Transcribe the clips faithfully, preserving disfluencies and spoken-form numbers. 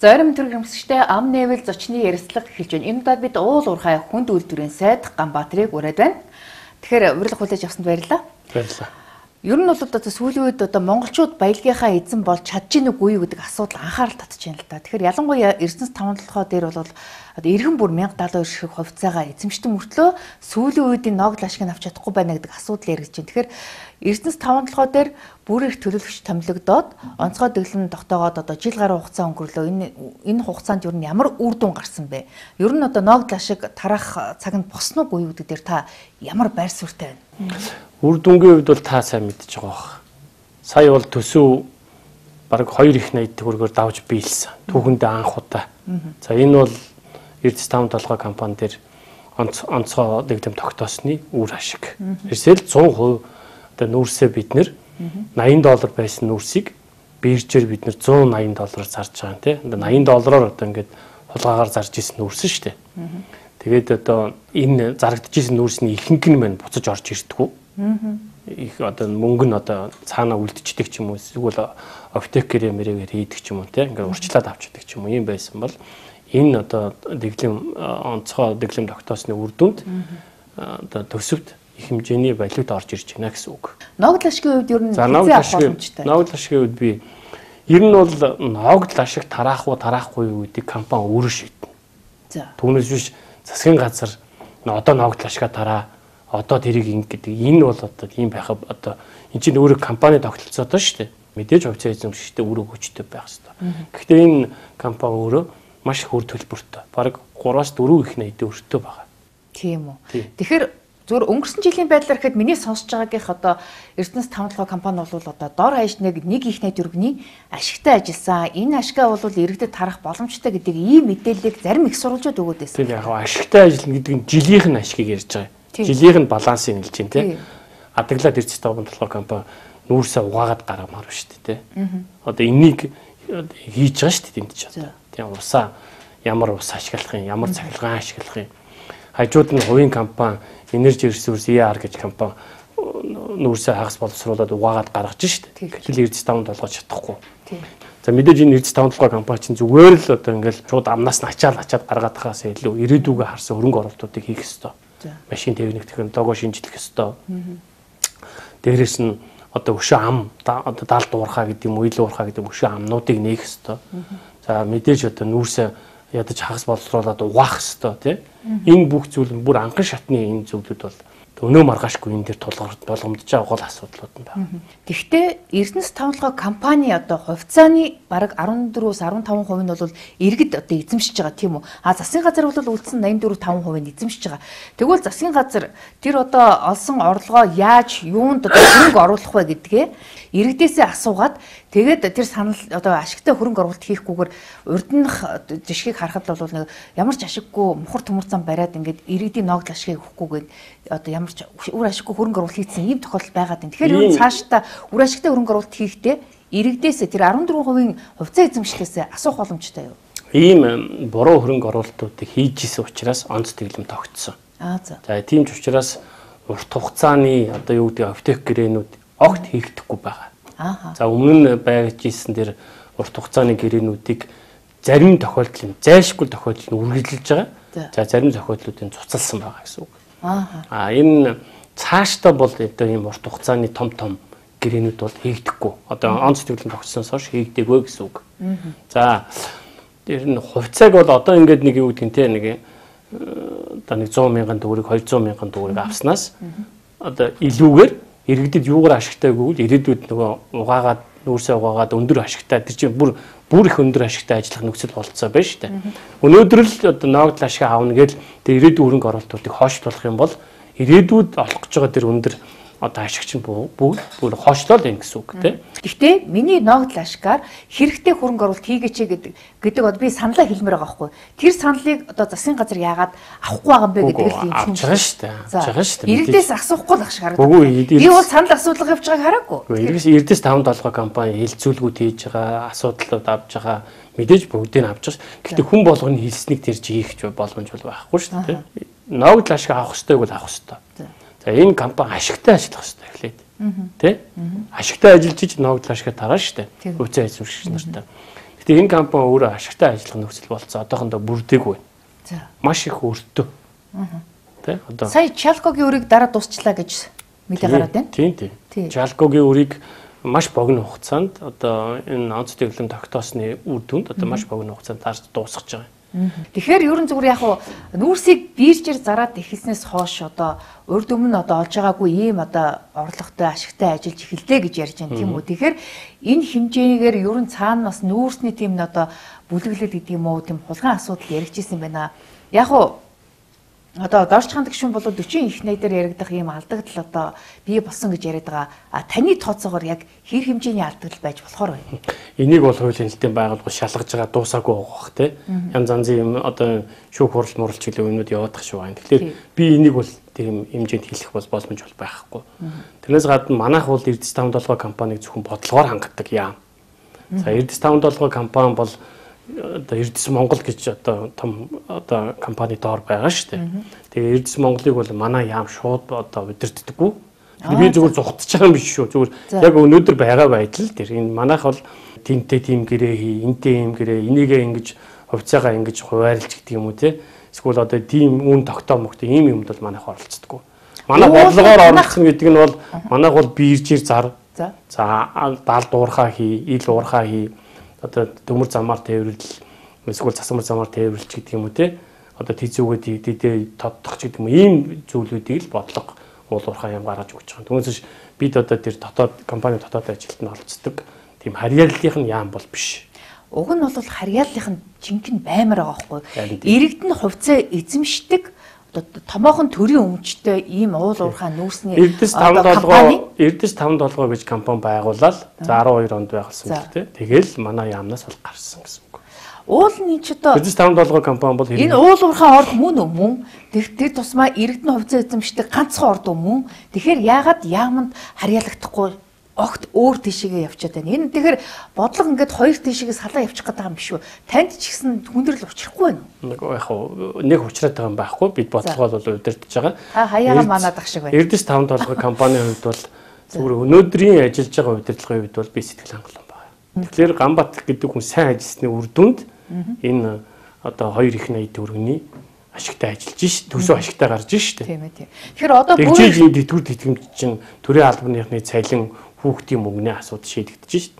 Зорим төрөмсгчтэй ам нээвэл зочны ярилцлага эхэлж байна. Энэ удаад бид уул уурхай хүнд үйлдвэрийн сайд Ганбаатарыг ураад байна. Тэгэхээр урилга хүлээж авсанд баярлалаа. Баярлалаа. Ер нь бол одоо сүүлийн үед одоо монголчууд баялагийнхаа эзэн болж чадж гин үгүй юу гэдэг асуудал анхаарал татж байна л да. Тэгэхээр ялангуяа Эрдэнэс таван толгой дээр бол одоо эргэн бүр мянга даалга шиг хувьцаагаа эзэмшдэг мөртлөө сүүлийн үед энэ ногд ашиг авч чадахгүй байна гэдэг асуудал яригдж байна. Тэгэхээр Эрдэнэс таван толгой дээр бүр их төлөвлөгч томилогдоод онцгой дэглэм тогтоогоод одоо жил гаруй хугацаа өнгөрлөө. Энэ энэ хугацаанд ер нь ямар үр дүн гарсан бэ? Ер нь одоо ногд ашиг тарах цаг нь босно уу гэдэг дээр та ямар байр суурьтай байна? Үр дүнгийн хувьд бол та сайн мэдж байгаа бах. Сая бол төсөв бараг хоёр их найд төгрөгөөр давж биелсэн. Түүхэндээ анх удаа. За энэ бол Эрдэнэс таван толгой компани дээр онцгой дэглэм тогтоосны үр ашиг. Тэрсэл цунд хувь одоо нүүрсээ бид нэр наян доллар байсан нүүрсийг биржээр бид нэр зуун наян доллараар зарж байгаа юм тий. наян доллараар одоо ингээд хулгаагаар зарж исэн нүүрсэн шүү дээ. Тэгээд одоо энэ зарагдчихсэн нүүрсний ихэнх нь мань буцаж орж ирдэггүй. Их одоо мөнгө нь одоо цаанаа үлдчихдэг ч юм уу эсвэл оптекер мэрээгээр хийдэг ч юм уу тий. Ингээд урчлаад авчдаг ч юм уу юм байсан бол энэ одоо дэглэм онцгой дэглэм тогтоосны үр дүнд одоо төсөвт их хэмжээний валют орж ирж байна гэсэн үг. Ногд ашигын хувьд ер нь хязгаар боломжтой. Ногд ашигын хувьд би ер нь бол ногд ашиг тараах уу тараахгүй юу гэдэг компани өөрөө шийднэ. За. Түүнээс биш засгийн газар одоо ногд ашигаа тараа одоо тэрийг ингэ гэдэг энэ бол одоо ийм байх одоо эн чинь өөрөө компани тогтолцоотой шүү дээ. Мэдээж хувьцаа эзэмшигчтэй өөрөө хүчтэй байх хэрэгтэй. Гэхдээ энэ компани өөрөө маш их үр төлбөртэй. Бараг гураас дөрөв их найдын өртөө байгаа. Тийм үү. Тэгэхээр зүгээр өнгөрсөн жилийн байдлаар гэхэд миний сонсож байгаагийнх одоо Эрдэнэс таван толгой компани бол одоо дор хаяж нэг нэг их найд өргөний ашигтай ажилласан. Энэ ашигаа бол иргэдэд тарах боломжтой гэдэг ийм мэдээллийг зарим их сурвалжууд өгөөд байсан. Тийм яг ашигтай ажиллана гэдэг нь жилийнх нь ашигыг ярьж байгаа. Жилийнх нь балансыг хэлж байна тий. Адаглаад Эрдэнэс таван толгой компани нүүрсээ угаагаад гаргамаар шүү дээ тий. Одоо энийг хийж байгаа шүү дээ энд ч одоо. Тийм усаа ямар ус ашиглах юм, ямар цахилгаан ашиглах юм. Хажууд нь хувийн компани Energy Resource и ар гэж компани нүүрсээ хагас боловсруулаад угаагаад гаргаж шүү дээ. Гэтэл Эрдэнэс таван толгой чадахгүй. За мэдээж энэ Эрдэнэс таван толгой компани чинь зүгээр л одоо ингээл шууд амнаас нь ачаал ачаад гаргаад хахаас илүү ирээдүгөө харсан хөрөнгө оруулалтуудыг хийх ёстой. Машин техник технологи шинжлэх ёстой. Дээрээс нь одоо өшөө ам одоо даалд уурхаа гэдэг юм уу, ил уурхаа гэдэг өшөө амнуудыг нээх ёстой. За мэдээж одоо нүүрсээ ядаж хагас боловсруулаад угаах ёстой тий. Энэ бүх зүйл нь бүр анхан шатны энэ зүйлүүд бол өнөө маргаашгүй энэ дээр тулгарч болгомдож байгаа гол асуудлууд нь байна. Гэхдээ Эрдэнэс таван толгой компани одоо хувьцааны бараг арван дөрвөөс арван таван хувь нь бол иргэд одоо эзэмшиж байгаа тийм үү? А засгийн газар бол үлдсэн найман дөрөв таван хувийг эзэмшиж байгаа. Тэгвэл засгийн газар тэр одоо олсон орлогоо яаж юунд одоо хөрөнгө оруулах вэ гэдгээ иргэдээсээ асуугаад тэгээд тэр санал одоо ашигтай хөрөнгө оруулалт хийхгүйгээр урдных жишгийг харахад бол нэг ямар ч ашиггүй мухар төмөр зам бариад ингээд иргэдийн ногд ашигыг өгөхгүйгээд одоо ямар ч үр ашиггүй хөрөнгө оруулалт хийсэн ийм тохиолдол байгаад байна. Тэгэхээр юу цаашдаа үр ашигтай хөрөнгө оруулалт хийхдээ иргэдээсээ тэр арван дөрвөн хувийн хувьцаа эзэмшлээсээ асуух боломжтой юу? Ийм буруу хөрөнгө оруулалтуудыг хийж исэн учраас онц дэглэм тогтсон. Аа за. За тийм ч учраас урт хугацааны одоо юу гэдэг аптек гэрээнүүд огт хийгдэхгүй байгаа. Аа. За өмнө нь байж исэн тэр урт хугацааны гэрээнүүдийг зарим тохиолдол нь зайлшгүй тохиолдол нь үргэлжилж байгаа. За зарим тохиолдлуудыг цуцалсан байгаа гэсэн үг. Аа. А энэ цаашдаа бол одоо ийм урт хугацааны том том гэрээнүүд бол хийгдэхгүй. Одоо онц дэглэм тогтсоноос хойш хийгдэггүй гэсэн үг. За тэр нь хувьцааг бол одоо ингээд нэг юу гэдэг нь те нэг одоо нэг зуун мянган төгрөг двести мянган төгрөг авснаас одоо илүүгээр иргэдэд юугаар ашигтай гэвэл ирээдүйд нөгөө угаагаад нүүрсээ угаагаад өндөр ашигтай тэр чинь бүр бүр их өндөр ашигтай ажиллах нөхцөл болцоо байна шүү дээ. Өнөөдөр л одоо ногд ашиг аавна гэж тэр ирээдүйн хөрөнгө оруулалтуудыг хойшлуулах юм бол ирээдүйд олох гэж байгаа тэр өндөр одоо ашигч нь бүгд бүр хойшлол юм гэсэн үг тийм. Гэхдээ миний ногд ашигаар хэрэгтэй хөрөнгө оруулалт хийгээч гэдэг гэдэг одоо би саналаа хэлмээр байгаа байхгүй. Тэр саналыг одоо засгийн газар яагаад авахгүй байгаа юм бэ гэдэг л юм чинь. Авч байгаа шүү дээ. Авч байгаа шүү дээ. Иргэдээс асуухгүй л ашиг харагдав. Би бол санал асуулга явж байгааг хараагүй. Иргэдээс Эрдэнэс таван толгой компани хилцүүлгүүд хийж байгаа, асуудлууд авч байгаа мэдээж бүгдийг авч байгаа. Гэхдээ хүн болгоны хэлснийг тэрж хийх боломж бол байхгүй шүү дээ. Ногд ашиг авах хэрэгтэй бол авах хэрэгтэй. За энэ компани ашигтай ажиллах хэрэгтэй эхлээд. Тэ? Ашигтай ажиллаж ич ногд ашиг тараа шүү дээ. Хувьцаа эзэмшигч нартай. Гэтэ энэ компани өөрөө ашигтай ажиллах нөхцөл болцсон. Одоохондоо бүрдээгүй. За. Маш их өртөө. Аа. Тэ одоо сая Чалкогийн үрийг дараа дуусчлаа гэж мэдээ гараад байна. Тийм тийм. Чалкогийн үрийг маш богино хугацаанд одоо энэ онц дэглэм тогтоосны үр дүнд одоо маш богино хугацаанд тарж дуусгаж байгаа. Тэгэхээр ерөн зүгээр яг хуу нүүрсийг биержээр зараад эхэлснээс хойш одоо урд өмнө одоо олж байгаагүй ийм одоо орлоготой ашигтай ажиллаж эхэллээ гэж ярьж байна тийм үү. Тэгэхээр энэ хэмжээгээр ерөн цаана бас нүүрсний тийм н одоо бүлэглэл гэдэг юм уу тийм хулгайн асуудал яригдчихсэн байна. Яг хуу одоо дорчхан гişүн бол forty их найдаар яригдах ийм алдагдал одоо бий болсон гэж яриад байгаа. А таны тооцоогоор яг хэр хэмжээний алдагдал байж болохоор байна. Энийг бол хуулийн хэлтийн байгууллага шалгаж байгаа дуусаагүй байгаа бох тий. Янз янзын юм одоо шүүх хурал муралч гэлээ өмнөд яваадах шүү байна. Тэгэхээр би энийг бол тийм хэмжээнд хэлэх бол боломж бол байхгүй. Тэрнээс гадна манайх бол Эрдэс таван долгоо компаниг зөвхөн бодлогоор хангадаг яам. За Эрдэс таван долгоо компани бол одоо Эрдэс Монгол гэж одоо том одоо компани доор байгаа шүү дээ. Тэгээ Эрдэс Монголыг бол манай яам шууд одоо удирддаггүй. Би зүгээр зүгтж байгаа юм биш шүү. Зүгээр яг өнөөдөр байгаа байдал тэр энэ манайх бол тэнтэй тим гэрээ хий, энтэй юм гэрээ, энийгээ ингэж хувьцаагаа ингэж хуваарлж гэдэг юм уу те. Эсвэл одоо тийм үн тогтоо мөхтэй ийм юмд бол манайх оролцдоггүй. Манай бодлогоор оролцсон гэдэг нь бол манайх бол биержээр зар. За даал дуурхаа хий, ил уурхаа хий. Одоо төмөр замаар тээвэрлэл эсвэл засамар замаар тээвэрлэлч гэдэг юм уу те одоо тийзүүгээ дидээ тодтох ч гэдэг юм ийм зүйлүүдийг л бодлого уулуурхаа юм гаргаж өгч байгаа. Түүнээс бид одоо тэр дотоод компани дотоод ажилтнад оролцдог тийм харьяаллынх нь яам бол биш. Уг нь бол харьяаллынх нь жинхэнэ баймар байгаа байхгүй. Иргэдэн хувьцаа эзэмшдэг томоохон төрийн өмчтэй ийм уул уурхай нүүрсний Эрдэс таван долгоо Эрдэс таван долгоо гэж компани байгуулаад за twelve онд байгуулсан л дээ. Тэгэл манай яамнаас бол гарсан гэсэн үг. Уул нь ч одоо Эрдэс таван долгоо компани бол энэ уул уурхай орд мөн үү мөн. Тэр тусмаа иргэдэн хувьцаа эзэмшдэг ганцхан орд мөн. Тэгэхээр яагаад яамд харьяалагдахгүй огт өөр тийшээгээ явчихад байна. Энэ тэгэхээр бодлого ингээд хоёр тийшээгээ салаа явчих гэдэг юм биш үү? Танд ч гэсэн хүндрэл учрахгүй байна уу? Нэг яг хуу нэг учраад байгаа юм байхгүй. Бид бодлогоо бол удирдах байгаа. Та хаяага манаадах шиг байна. Эрдэс таван долгоо компанийн хувьд бол зүгээр өнөөдрийн ажиллаж байгаа удирдлагын хувьд бол би сэтгэл хангалуун байна. Тэгэхээр Ганбат гэдэг хүн сайн ажилласны үр дүнд энэ одоо хоёр их найд төгрөгийн ашигтай ажиллаж ш төсөө ашигтай гарч ш тийм ээ тийм. Тэгэхээр одоо бүр тэгжиж тэтгэр тэтгэмж чинь төрийн албаныхны цалин хүүхдийн мөнгөний асуудал шийдэгдэж ш.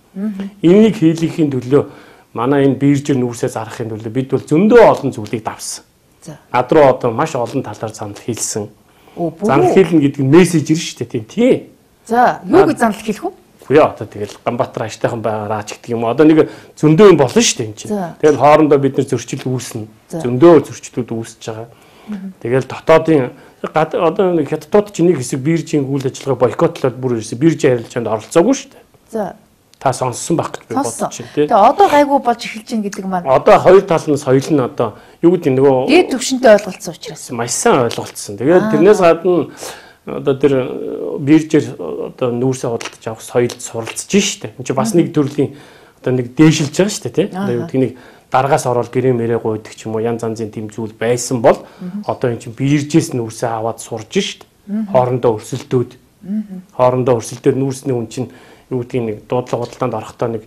Энийг хийлгэхийн төлөө манай энэ биержэр нүүрсээ зарахын төлөө бид бол зөндөө олон зүйлийг давсан. За. Над руу одоо маш олон талаар занал хийлсэн. Занал хийлнэ гэдэг нь мессежэр ш тийм тий. За, юу гэж занал хийх вэ? Үгүй одоо тэгэл Ганбаатар аштайхан байгаараа ч гэдэг юм. Одоо нэг зөндөө юм болно шүү дээ энэ чинь. Тэгэл хоорондоо бид нэр зөрчил үүснэ. Зөндөө зөрчлүүд үүсэж байгаа. Тэгэл дотоодын одоо нэг хятадууд ч нэг хэсэг биржийн үйл ажиллагаа бойкотлоод бүр ирсэн. Биржийн харилцаанд оролцоогүй шүү дээ. За. Та сонссон байх гэж би бодож байна тий. Тэгээ одоо гайгүй болж эхэлж байна гэдэг маань. Одоо хоёр талнаас соёл нь одоо юу гэдэг нөгөө дээд түвшинтэй ойлголцсон учраас. Маш сайн ойлголцсон. Тэгээд тэрнээс гадна одоо тэр биржээр одоо нүүрсээ худалдаж авах соёлд суралцж штэ. Энд чинь бас нэг төрлийн одоо нэг дээшилж байгаа штэ тий. Одоо нэг дараагаас ороод гэрээ мэрээ гуйдаг ч юм уу янз янзын тийм зүйл байсан бол одоо эн чинь биржээс нүүрсээ аваад сурж штэ. Хоорондоо өрсөлдөөд хоорондоо өрсөлдөөд нүүрсний үн чинь юу гэдгийг нэг дуудлага худалдаанд орохдоо нэг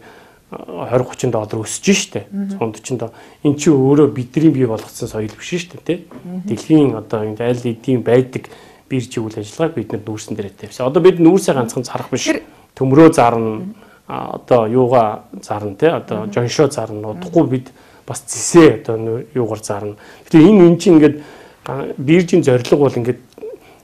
twenty thirty доллар өсөж штэ. one hundred forty эн чинь өөрөө бидний бий болгоцсон соёл биш штэ тий. Дэлхийн одоо энэ аль эдийн байдаг биржийн үйл ажиллагааг бид нар нүүрсэн дээрээ тавьсан. Одоо бид нүүрсээ ганцхан зарах биш. Төмрөө зарна, одоо юугаа зарна те одоо жоншоо зарна. Удахгүй бид бас зэсээ одоо юугаар зарна. Гэтэ энэ эн чинь ингээд биржийн зорилго бол ингээд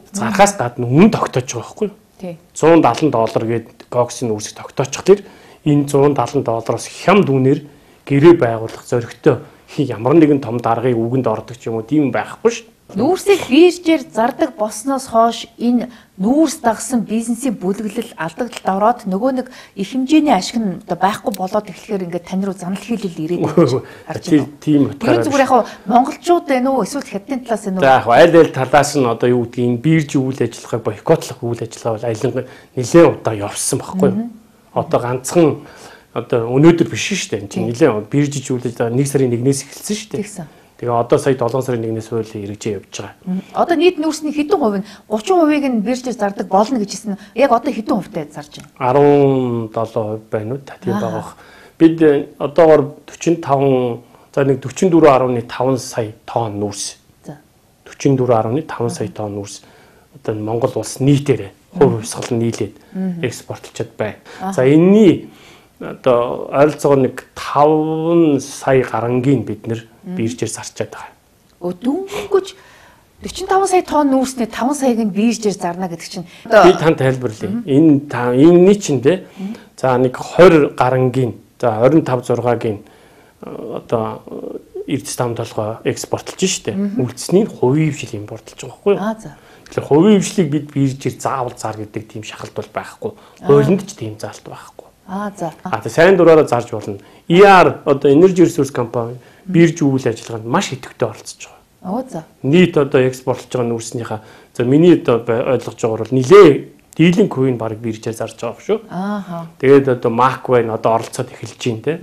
зархаас гадна үнэн тогтоож байгаа байхгүй юу? Тий. one hundred seventy доллар гээд гоксын нүүрсийг тогтоочих тэр энэ one hundred seventy доллароос хямд үнээр гэрээ байгуулах зоригтой ямар нэгэн том даргыг үгэнд ордог ч юм уу тийм байхгүй шүү. Нүүрсийг биржээр зардаг болсноос хойш энэ нүүрс дагсан бизнесийн бүлэглэл алдагдлалд ороод нөгөө нэг их хэмжээний ашиг нь одоо байхгүй болоод эхлэхээр ингээд тань руу занал хийлэл ирээд байна. Тийм утгаараа. Зүгээр яг монголчууд байна уу эсвэл хятадын талаас байна уу? За яг аль аль талаас нь одоо юу гэдгийг энэ биржийн үйл ажиллагааг бойкотлох үйл ажиллагаа бол айлын нэлээд удаа явсан байхгүй юу? Одоо ганцхан одоо өнөөдөр биш шүү дээ. Энд чинь нэлээд биржийн үйл ажиллагаа нэг сарын нэгнээс эхэлсэн шүү дээ. Тэгээ одоо сая seven сарын нэгнээс хууль хэрэгжээ явж байгаа. Одоо нийт нүүрсний хэдэн хувь нь thirty percent-ийг нь биржээр зардаг болно гэж хэлсэн. Яг одоо хэдэн хувьтай зарж байна? seventeen percent байна уу? Тийм байгаа. бид одоогоор forty five за нэг forty-four point five сая тонн нүүрс. За forty-four point five сая тонн нүүрс одоо Монгол улс нийтээрээ хувь хувьсгал нийлээд экспортлчод байна. За энэний одоо ойролцоогоор нэг five сая гарангийн бид нэр биржээр зарчаад байгаа. Дөнгөж forty-five сая тонн нүүрсний five саяг нь биржээр зарна гэдэг чинь би танд тайлбарлая. Энэ энэний чинь те за нэг twenty гарангийн за twenty-five зургагийн одоо эрдэс там толгой экспортлж штэ. Үлдсний хувийн хвшил импортлж байгаа байхгүй юу? Аа за. Тэгэхээр хувийн хвшлийг бид биржээр заавал зар гэдэг тийм шахалт бол байхгүй. Хуулинд ч тийм заалт байхгүй. Аа за. А тэ сайн дураараа зарж болно. и ар одоо Energy Resource компани бирж үйл ажиллагаанд маш идэвхтэй оролцож байгаа. Оо за. Нийт одоо экспортлж байгаа нүүрснийхаа за миний одоо ойлгож байгаагаар бол нилээ дийлэнх хувийг баг биржээр зарж байгаа шүү. Ааха. Тэгээд одоо Macwine одоо оролцоод эхэлж байна те.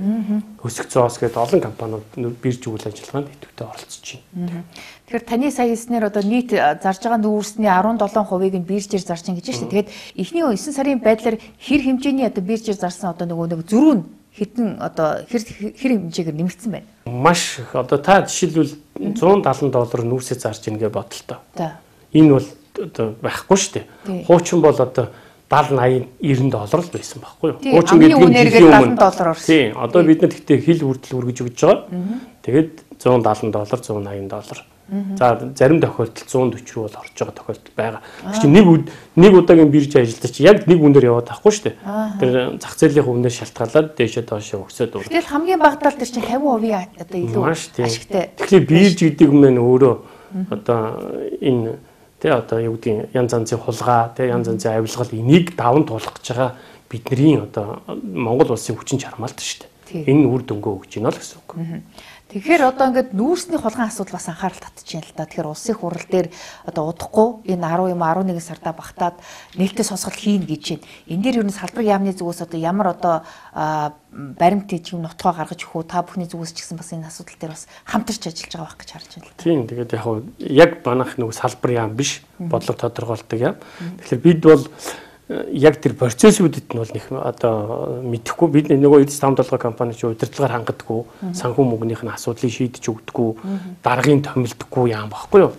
Өсөх зоос гэдэг олон компаниуд бирж үйл ажиллагаанд идэвхтэй оролцож байна. Тэгэхээр таны сая хэлснээр одоо нийт зарж байгаа нүүрсний seventy-seven хувийг нь биржээр зарж чинь гэж байна шүү. Тэгээд эхний nine сарын байдлаар хэр хэмжээний одоо биржээр зарсан одоо нөгөө нэг зөрүү нь хэдэн одоо хэр хэр хэмжээгээр нэмэгдсэн байна. Маш их одоо та жишээлбэл one seventy доллар нүүрсээ зарж ийн гэж бодолтой. За. Энэ бол одоо байхгүй шүү дээ. Хуучин бол одоо seventy eighty доллар л байсан байхгүй юу? Хуучин гэдэг нь seventy доллар орсон. Тийм. Одоо бид нар гэхдээ хил хүртэл үргэж өгч байгаа. Тэгээд one seventy доллар one eighty доллар. За зарим тохиолдолд one forty руу бол орж байгаа тохиолдол байгаа. Чи нэг нэг удаагийн бирж ажилтдаг чи яг нэг үнээр яваад тахгүй шүү дээ. Тэр зах зээлийн үнээр шалтгаалаад дээшээ доошоо өгсөд өөр. Тэгэл хамгийн багадаа тэр чинь fifty percent одоо илүү ашигтай. Тэгэхээр бирж гэдэг юм нь өөрөө одоо энэ тэ одоо юу гэдгийг янз янзын хулгай тэ янз янзын авилгал энийг даван туулах гэж байгаа бидний одоо Монгол улсын хүчин чармаалт шүү дээ. Энэ үр дүнгөө өгч байна л гэсэн үг. Тэгэхээр одоо ингээд нүүрсний хулгайн асуудал бас анхаарал татчихжээ л да. Тэгэхээр улсын хурал дээр одоо удахгүй энэ ten юм eleven сарда багтаад нээлттэй сонсголт хийн гэж байна. Энэ дээр ер нь салбар яамны зүгээс одоо ямар одоо баримт юм нутгаа гаргаж өгөх үү? Та бүхний зүгээс ч гэсэн бас энэ асуудал дээр бас хамтарч ажиллаж байгаа байх гэж харж байна л да. Тийм. Тэгээд яг яг манайх нөгөө салбар яам биш бодлого тодорхойлдог яам. Тэгэхээр бид бол яг тэр процессуудад нь бол нэг одоо мэдэхгүй бид нөгөө эдс five доллар компани чи удирдлагаар хангадаггүй санхүү мөнгөнийх нь асуудлыг шийдэж өгдөггүй даргын томилдоггүй яам багхгүй юу.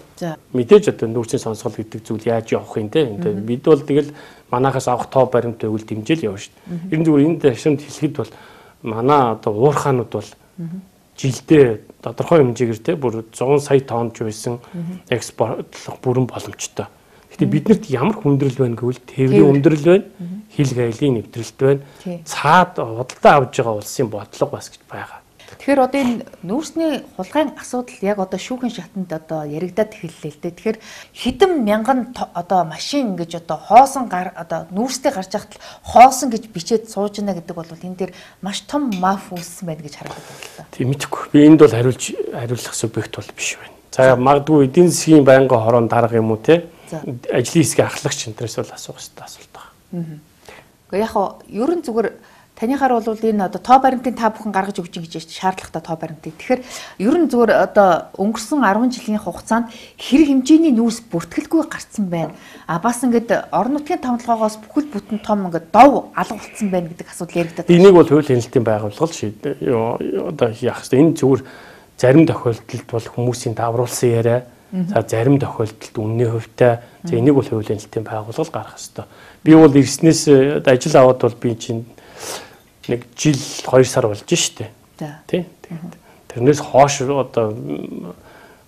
Мэдээж одоо нүүрсийн сонсгол гэдэг зүйл яаж явах юм те. Бид бол тэгэл манахаас авах тоо баримт байвал дэмжээл явна шүү дээ. Ерөн зүгээр энэ ташрамд хэлэхэд бол манай одоо уурхаанууд бол жилдээ тодорхой хэмжээгээр те бүр one hundred сая тонн ч байсан экспортлох бүрэн боломжтой. Гэтэ биднэрт ямар хүндрэл байна гэвэл тээврийн хүндрэл байна, хил гайлын нэвтрэлт байна. Цаад худалдаа авж байгаа улсын бодлого бас гэж байгаа. Тэгэхээр одоо энэ нүүрсний хулгайн асуудал яг одоо шүүхийн шатанд одоо яригадад эхэллээ л дээ. Тэгэхээр хэдэн мянган одоо машин гэж одоо хоосон гар одоо нүүрстэй гарч яхад хоосон гэж бичээд сууж байна гэдэг бол энэ дээр маш том маф үүссэн байна гэж харагдаад байна л да. Тийм мэдгүй. Би энд бол хариулж хариулах субъект бол биш байна. За магадгүй эдийн засгийн байнгын хорон дарга юм уу те? Ажлын хэсгийн ахлагч энтрээс бол асуух хэрэгтэй асуулт байна. Гэхдээ яг хоо ерөн зүгээр танихаар бол энэ одоо тоо баримтын та бүхэн гаргаж өгч гэж шаардлагатай тоо баримтыг. Тэгэхээр ерөн зүгээр одоо өнгөрсөн ten жилийн хугацаанд хэрэг хэмжээний нүүрс бүртгэлгүй гарцсан байна. А бас ингээд орон нутгийн тавталгоогоос бүхэл бүтэн том ингээд дов алга болцсон байна гэдэг асуудал яригдаад байна. Энийг бол хууль хяналтын байгууллага шийд одоо яах вэ? Энэ зүгээр зарим тохиолдолд бол хүмүүсийн давруулсан яриа. За зарим тохиолдолд үнний хувьтай за энийг бол хуулийн хэлтийн байгууллага гаргах ёстой. Би бол ирснээс ажил аваад бол би чинь нэг жил two сар болж штэ. Тий. Тэрнээс хоош одоо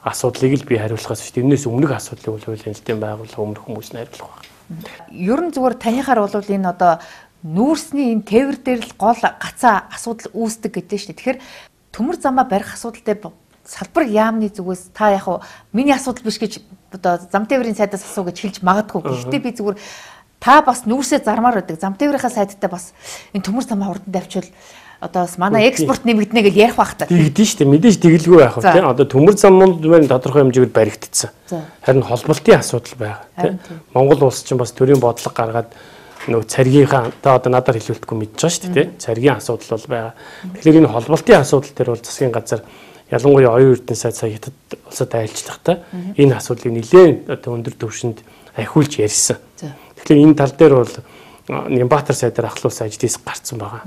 асуудлыг л би хариулахаас шүү. Тэрнээс өмнөх асуудлыг бол хуулийн хэлтийн байгууллага өмнөх хүмүүс нь хариулах байна. Ер нь зүгээр танихаар бол энэ одоо нүүрсний энэ тээвэр дээр л гол гацаа асуудал үүсдэг гэдэг штэ. Тэгэхээр төмөр замаа барих асуудал дээр салбар яамны зүгээс та яг уу миний асуудал биш гэж одоо зам тээврийн сайдаас асуу гэж хэлж магадгүй. Гэхдээ би зүгээр та бас нүүрсээ зармаар байдаг. Зам тээврийнхаа сайдтай бас энэ төмөр замаа хурдан давчвал одоо манай экспорт нэмэгдэнэ гэж ярих байх та. Тэгдэж штэ мэдээж тэгэлгүй байх уу тийм. Одоо төмөр замууд байна тодорхой хэмжээгээр баригдсан. Харин холболтын асуудал байгаа тийм. Монгол улс чинь бас төрийн бодлого гаргаад нөө царгийнхаа та одоо надаар хэлүүлдэхгүй мэдж байгаа шүү дээ. Царгийн асуудал бол байгаа. Тэгэхээр энэ холболтын асуудал төр бол засгийн газар ялангуяа оюун эрдэнэ сайд сая хятад улсад айлчлахдаа энэ асуудлыг нэлээд одоо өндөр түвшинд ахиулж ярьсан. Тэгэхээр энэ тал дээр бол Нямбатар сайдаар ахлуулсан ажлаас гарцсан байгаа.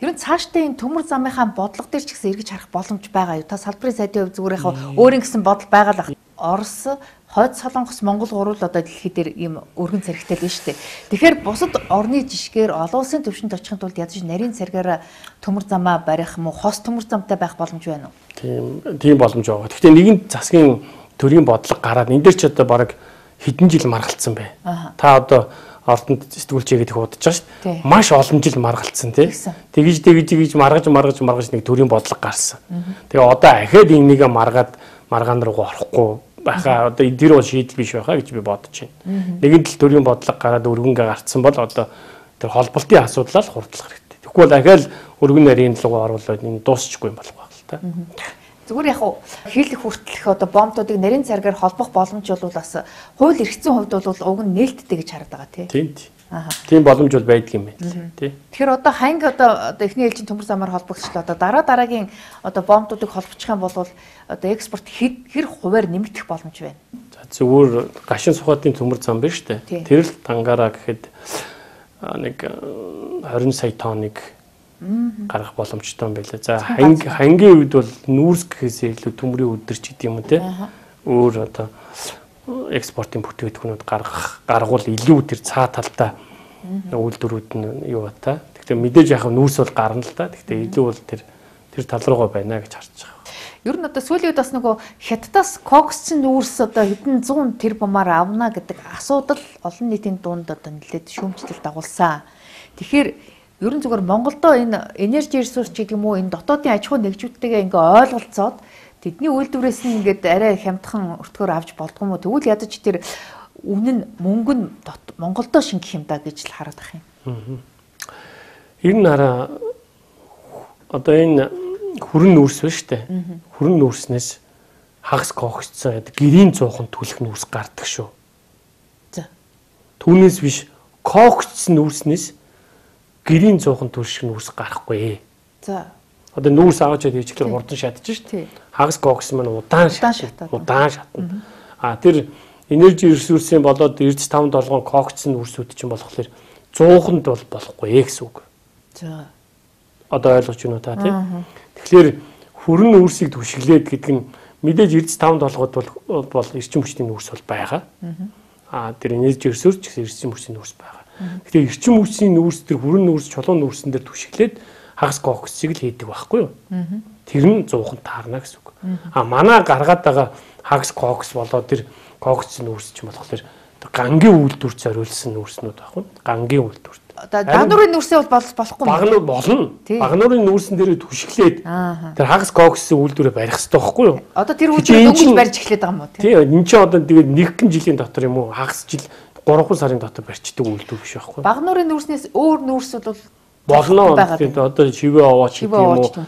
Ер нь цаашдаа энэ төмөр замынхаа бодлого дээр ч гэсэн эргэж харах боломж байгаа юу? Та салбарын сайдын хувьд зүгээр яг өөрийн гэсэн бодол байгаа л ах. Орос, Хойд Солонгос, Монгол гурвал одоо дэлхий дээр ийм өргөн царигтай л шүү дээ. Тэгэхээр бусад орны жишгээр олон улсын төвшөнд очихын тулд ядаж нарийн царигаараа төмөр замаа барих юм уу? Хос төмөр замтай байх боломж байна уу? Тийм, тийм боломж байгаа. Гэхдээ нэгэн засгийн төрийн бодлого гараад энэ дээр ч одоо бараг хэдэн жил маргалцсан бай. Та одоо ордонд сэтгүүлчээгээд их удаж байгаа шүү дээ. Маш олон жил маргалцсан тий. Тэгж тэгж тэгж маргаж маргаж маргаж нэг төрийн бодлого гарсан. Тэгээ одоо ахаад энийг маргаад маргаан руу орохгүй байхаа одоо энэ бол шийдэл биш байхаа гэж би бодож байна. Нэгэн тал төрийн бодлого гараад өргөнгө гарцсан бол одоо тэр холболтын асуудлаа л хурдлах хэрэгтэй. Тэгэхгүй бол ахаал өргөн нарийн руу оруулаад энэ дуусчихгүй юм болох байх л та. Зүгээр яг хил их хүртэлх одоо бомбуудыг нарийн царгаар холбох боломж бол бас хууль эрхцэн хувьд бол уг нь нээлттэй гэж хараад байгаа тийм. Тийм. Тийм боломж бол байдаг юм байна тий. Тэгэхээр одоо ханг одоо одоо эхний ээлжийн төмөр замаар холбогдчихлоо одоо дараа дараагийн одоо бомбуудыг холбочих юм бол одоо экспорт хэр хуваар нэмэгдэх боломж байна. За зүгээр гашин сухатын төмөр зам биш үү? Тэр л дангаараа гэхэд нэг хорин сая тонныг гаргах боломжтой юм байлаа. За ханг хангийн үед бол нүүрс гэхээс илүү төмрийн өдөрч гэдэг юм тий. Өөр одоо экспортын бүтээгдэхүүнүүд гаргах гаргуул илүү тэр цаа талдаа үйлдвэрүүд нь юу бата. Гэхдээ мэдээж яг нүүрс бол гарна л та. Гэхдээ илүү бол тэр тэр тал руугаа байна гэж харж байгаа. Ер нь одоо сүүлийн үед бас нөгөө хятадаас коксчин нүүрс одоо хэдэн зуун тэрбумаар авна гэдэг асуудал олон нийтийн дунд одоо нэлээд шүүмжлэл дагуулсан. Тэгэхээр ер нь зүгээр Монголдо энэ энержи ресурс гэдэг юм уу энэ дотоодын аж ахуй нэгжүүдтэйгээ ингээ ойлголцоод тэдний үйлдвэрээс нь ингээд арай хямдхан өртгөөр авч болдгоо юм уу? Тэгвэл ядаж тэр өмнө нь мөнгө нь Монголдо шингэх юм да гэж л хараад ах юм. Ер нь хараа одоо энэ хүрэн нүүрс ба штэ. Хүрэн нүүрснээс хагас коксцсон гэрийн цуухан түлэх нүүрс гардаг шүү. За. Түүнээс биш коксцсон нүүрснээс гэрийн цуухан түлших нүүрс гарахгүй. За. Одоо нүүрс аваач гэдэг чиглэл хурдан шатчих шүү дээ. Хагас кокс маань удаан шатна. Удаан шатна. А тэр энержи ресурсын болоод эрдэс таван долгоон коксны нүүрсүүд чинь болохоор цууханд бол болохгүй гэсэн үг. За. Одоо ойлгож байна уу та тийм? Тэгэхээр хүрэн нүүрсийг түшиглээд гэдэг нь мэдээж эрдэс таван долгоод бол бол эрчим хүчний нүүрс бол байгаа. А тэр энержи ресурс ч гэсэн эрчим хүчний нүүрс байгаа. Тэгэхээр эрчим хүчний нүүрс тэр хүрэн нүүрс чулуун нүүрсэн дээр түшиглээд хагас коксыг л хийдэг байхгүй юу? Тэр нь зуухан таарна гэсэн үг. А манай гаргаад байгаа хагас кокс болоод тэр кокс нүүрс ч юм болохоор гангийн үйлдвэрт зориулсан нүүрснүүд байхгүй юу? Гангийн үйлдвэрт. Одоо багнуурын нүүрсээ бол болохгүй юм. Багнуур болно. Багнуурын нүүрсэн дээр түшиглээд тэр хагас коксын үйлдвэрээ барих хэрэгтэй байхгүй юу? Одоо тэр үйлдвэрээ дөнгөж барьж эхлэх байгаа юм уу? Тийм. Энэ чинь одоо тэгээд нэгэн жилийн дотор юм уу? Хагас жил гурван сарын дотор барьчдаг үйлдвэр биш байхгүй юу? Багнуурын нүүрснээс өөр нүүрсүүд бол болно. Тэгээд одоо шивээ аваач гэдэг юм уу?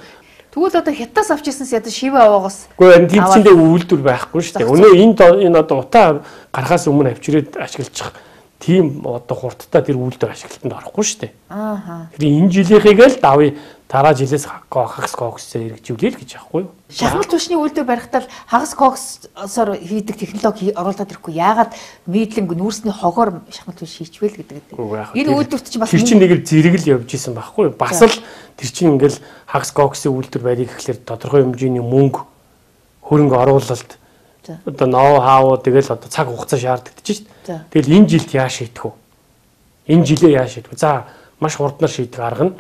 Тэгвэл одоо хятадаас авчихсанс ядаж шивээ аваагаас. Үгүй энэ тэмцэндээ үйлдвэр байхгүй шүү дээ. Өнөө энэ энэ одоо утаа гарахаас өмнө авчирээд ашиглаж тийм одоо хурдтай тэр үйлдвэр ашиглалтанд орохгүй шүү дээ. Аа. Тэр энэ жилийнхийг л давъя дараа жилээс хагас коксээр хэрэгжүүлээл гэж аахгүй юу? Шахмал түвшний үйлдвэр барихтаа хагас коксоор хийдэг технологи оруулаад ирэхгүй. Яагаад нийтлэнг нүүрсний хогоор шахмал түвш хийчвэл гэдэг. Энэ үйлдвэрт чинь бас тэр чинь нэг л зэрэг л явж исэн байхгүй юу? Бас л тэр чинь ингээл хагас коксын үйлдвэр барих гэхлээр тодорхой хэмжээний мөнгө хөрөнгө оруулалт одоо ноу хау тэгэл одоо цаг хугацаа шаарддаг чинь шүү дээ. Тэгэл энэ жилд яа шийдэх вэ? Энэ жилээ яа шийдэх вэ? За маш хурднаар шийдэх арга нь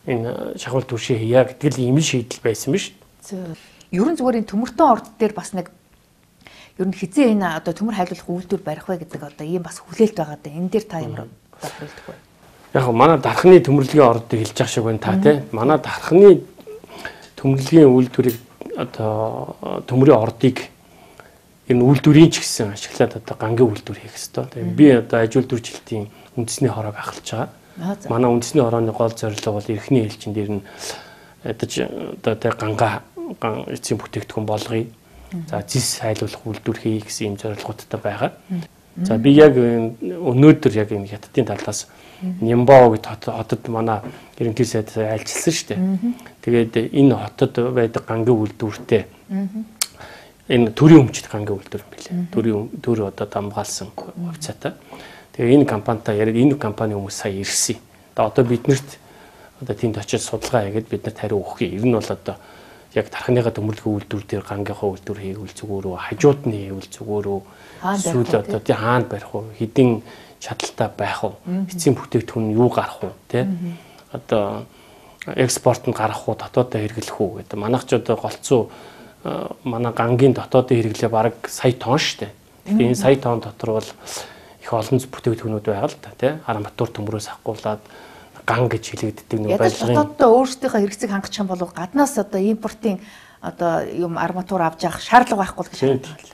энэ шахмал түвшээ хийя гэдэг л ийм л шийдэл байсан биз шүү. Ерөн зүгээр энэ төмөртөө орд дээр бас нэг ер нь хизээ энэ одоо төмөр хайлуулах үйлдвэр барих вэ гэдэг одоо ийм бас хүлээлт байгаа даа. Энэ дээр та ямар бодох вэ? Яг манай дархны төмөрлөгийн ордыг хэлж байгаа шиг байна та тийм. Манай дархны төмөрлөгийн үйлдвэрийг одоо төмрийн ордыг энэ үйлдвэрийн ч гэсэн ашиглаад одоо гангийн үйлдвэр хийх хэрэгтэй. Тэгээ би одоо аж үйлдвэрчлэлтийн үндэсний хороог ахалж байгаа. Манай үндэсний хорооны гол зорилго бол эрхний ээлжин дээр нь ядаж одоо тэ ганга эцсийн бүтээгдэхүүн болгоё. За зис хайлуулах үйлдвэр хийх гэсэн юм зорилгоудтай байгаа. За би яг өнөөдөр яг энэ хятадын талаас Нямбао гэдэг хотод манай ерөнхий сайд айлчилсан шүү дээ. Тэгээд энэ хотод байдаг гангийн үйлдвэртэй энэ төрийн өмчт гангийн үйлдвэр юм билээ. Төрийн төр одоо дамгаалсан хувьцаатай. Тэгээ энэ компанитай яриад энэ компани хүмүүс сая ирсэн. Одоо биднэрт одоо тэнд очиж судалгаа хийгээд биднэрт хариу өгөх юм. Ер нь бол одоо яг тархиныхаа төмөрлөгийн үйлдвэр дээр гангийнхаа үйлдвэр хийвэл зүгээр үү, хажууд нь хийвэл зүгээр үү, эсвэл одоо тий хаана барих уу, хэдийн чадaltaй байх уу, эцсийн бүтээгдэхүүн юу гарах уу, тий одоо экспортод гарах уу, дотоодоо хэрэглэх үү гэдэг. Манайх ч одоо голцоо манай гангийн дотоодын хэрэглээ бараг сая тонн штэ. Тэгэхээр энэ сая тонн дотор бол их олон бүтээгдэхүүнүүд байгаа л та тий. Арматур төмрөөс ахгуулаад ган гэж хэлэгддэг нэг байлгын. Дотоодоо өөрсдийнхөө хэрэгцээг хангах юм бол гаднаас одоо импортын одоо юм арматур авч явах шаардлага байхгүй гэж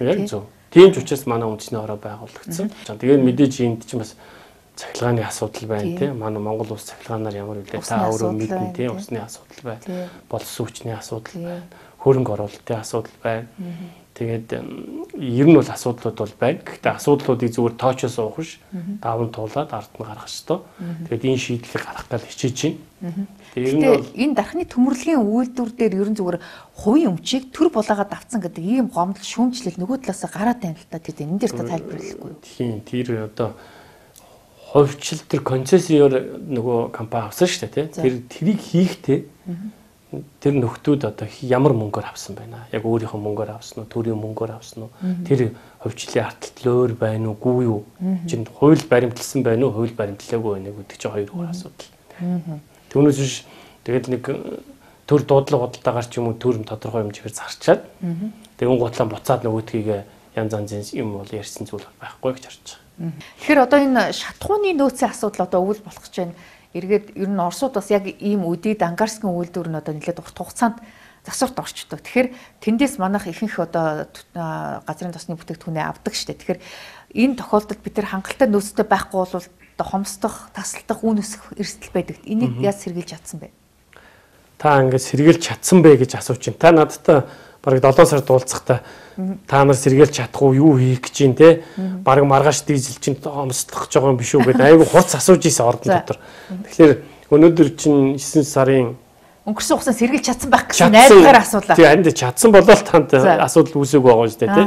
байна. Тийм ч учраас манай үндэсний хороо байгуулагдсан. Тэгээд мэдээж энд чинь бас цахилгааны асуудал байна тий. Манай Монгол улс цахилгаанаар ямар үлээ та өөрөө мэднэ тий. Усны асуудал байна. Болсон хүчний асуудал байна. Хөрөнгө оруулалтын асуудал байна. Тэгээд ер нь бол асуудлууд бол байна. Гэхдээ асуудлуудыг зүгээр тоочоос уух ш даван туулаад ард нь гаргах ёстой. Тэгээд энэ шийдлийг гаргах гал хичээж байна. Тэгээд энэ дархны төмөрлөгийн үйлдвэр дээр ер нь зүгээр хувийн өмчийг төр булаагаад авцсан гэдэг ийм гомдол шүүмжлэл нөгөө талаас гараад байна л та. Тэгээд энэ дээр та тайлбарлахгүй юу? Тийм тэр одоо хувьчил тэр концессиор нөгөө компани авсан шүү дээ тий. Тэр тэрийг хийхдээ тэр нөхдүүд одоо ямар мөнгөөр авсан байна. Яг өөрийнхөө мөнгөөр авсан уу, төрийн мөнгөөр авсан уу? Тэр хувьчлалын арталт өөр байна уугүй юу? Чин хууль баримтлсан байна уу, хууль баримтлаагүй байна гэдэг чинь хоёр өөр асуудал. Түүнээс биш тэгээд нэг төр дуудлага бодолтойгоор ч юм уу төр тодорхой хэмжээгээр зарчаад тэгэн гутлаа буцаад нөгөөдгийг янз янзын юм бол ярьсан зүйл байхгүй гэж харж байгаа. Тэгэхээр одоо энэ шатхууны нөөцийн асуудал одоо өвөл болох гэж байна. Эргээд ер нь Оросууд бас яг ийм үдээд ангарскын үйлдвэр нь одоо нэлээд урт хугацаанд засварт орчдог. Тэгэхээр тэндээс манайх ихэнх одоо газрын тосны бүтээгдэхүүнээ авдаг штэ. Тэгэхээр энэ тохиолдолд бид нар хангалттай нөөцтэй байхгүй бол одоо хомсдох, тасалдах, үн өсөх эрсдэл байдаг. Энийг яаж сэргийлж чадсан бэ? Та ингээд сэргийлж чадсан бэ гэж асууж байна. Та надтай бараг долоон сард уулзахдаа та нар сэргийлж чадахгүй юу хийх гэж юм те бараг маргааш дизель чинь хомсдох гэж байгаа юм биш үү гэдэг айгүй хурц асууж ийсэн ордон дотор. Тэгэхээр өнөөдөр чинь есөн сарын өнгөрсөн хугацаанд сэргийлж чадсан байх гэсэн найдвараар асуулаа. Тийм харин чадсан болол танд асуудал үүсээг байгаа шүү дээ те.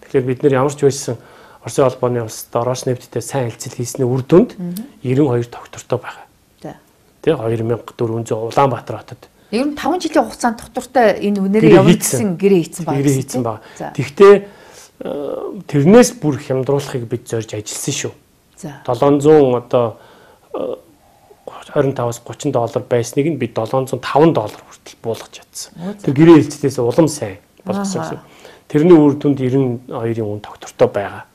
Тэгэхээр бид нэр ямар ч байсан Оросын холбооны улсад Роснефттэй сайн хэлцэл хийсний үр дүнд девяносто two доктортой байгаа. Тэ two thousand four hundred Улаанбаатар хотод. Ер нь таван жилийн хугацаанд доктортой энэ үнээрээ явагдсан гэрээ хийсэн байна. Гэрээ хийсэн байна. Тэгвэл тэрнээс бүр хямдруулахыг бид зорж ажилласан шүү. За seven hundred одоо twenty-five-аас thirty доллар байсныг нь бид seven hundred five доллар хүртэл буулгаж чадсан. Тэр гэрээ хэлцлээс улам сайн болгосон гэсэн. Тэрний үр дүнд ninety-two-ийн үн доктортой байгаа.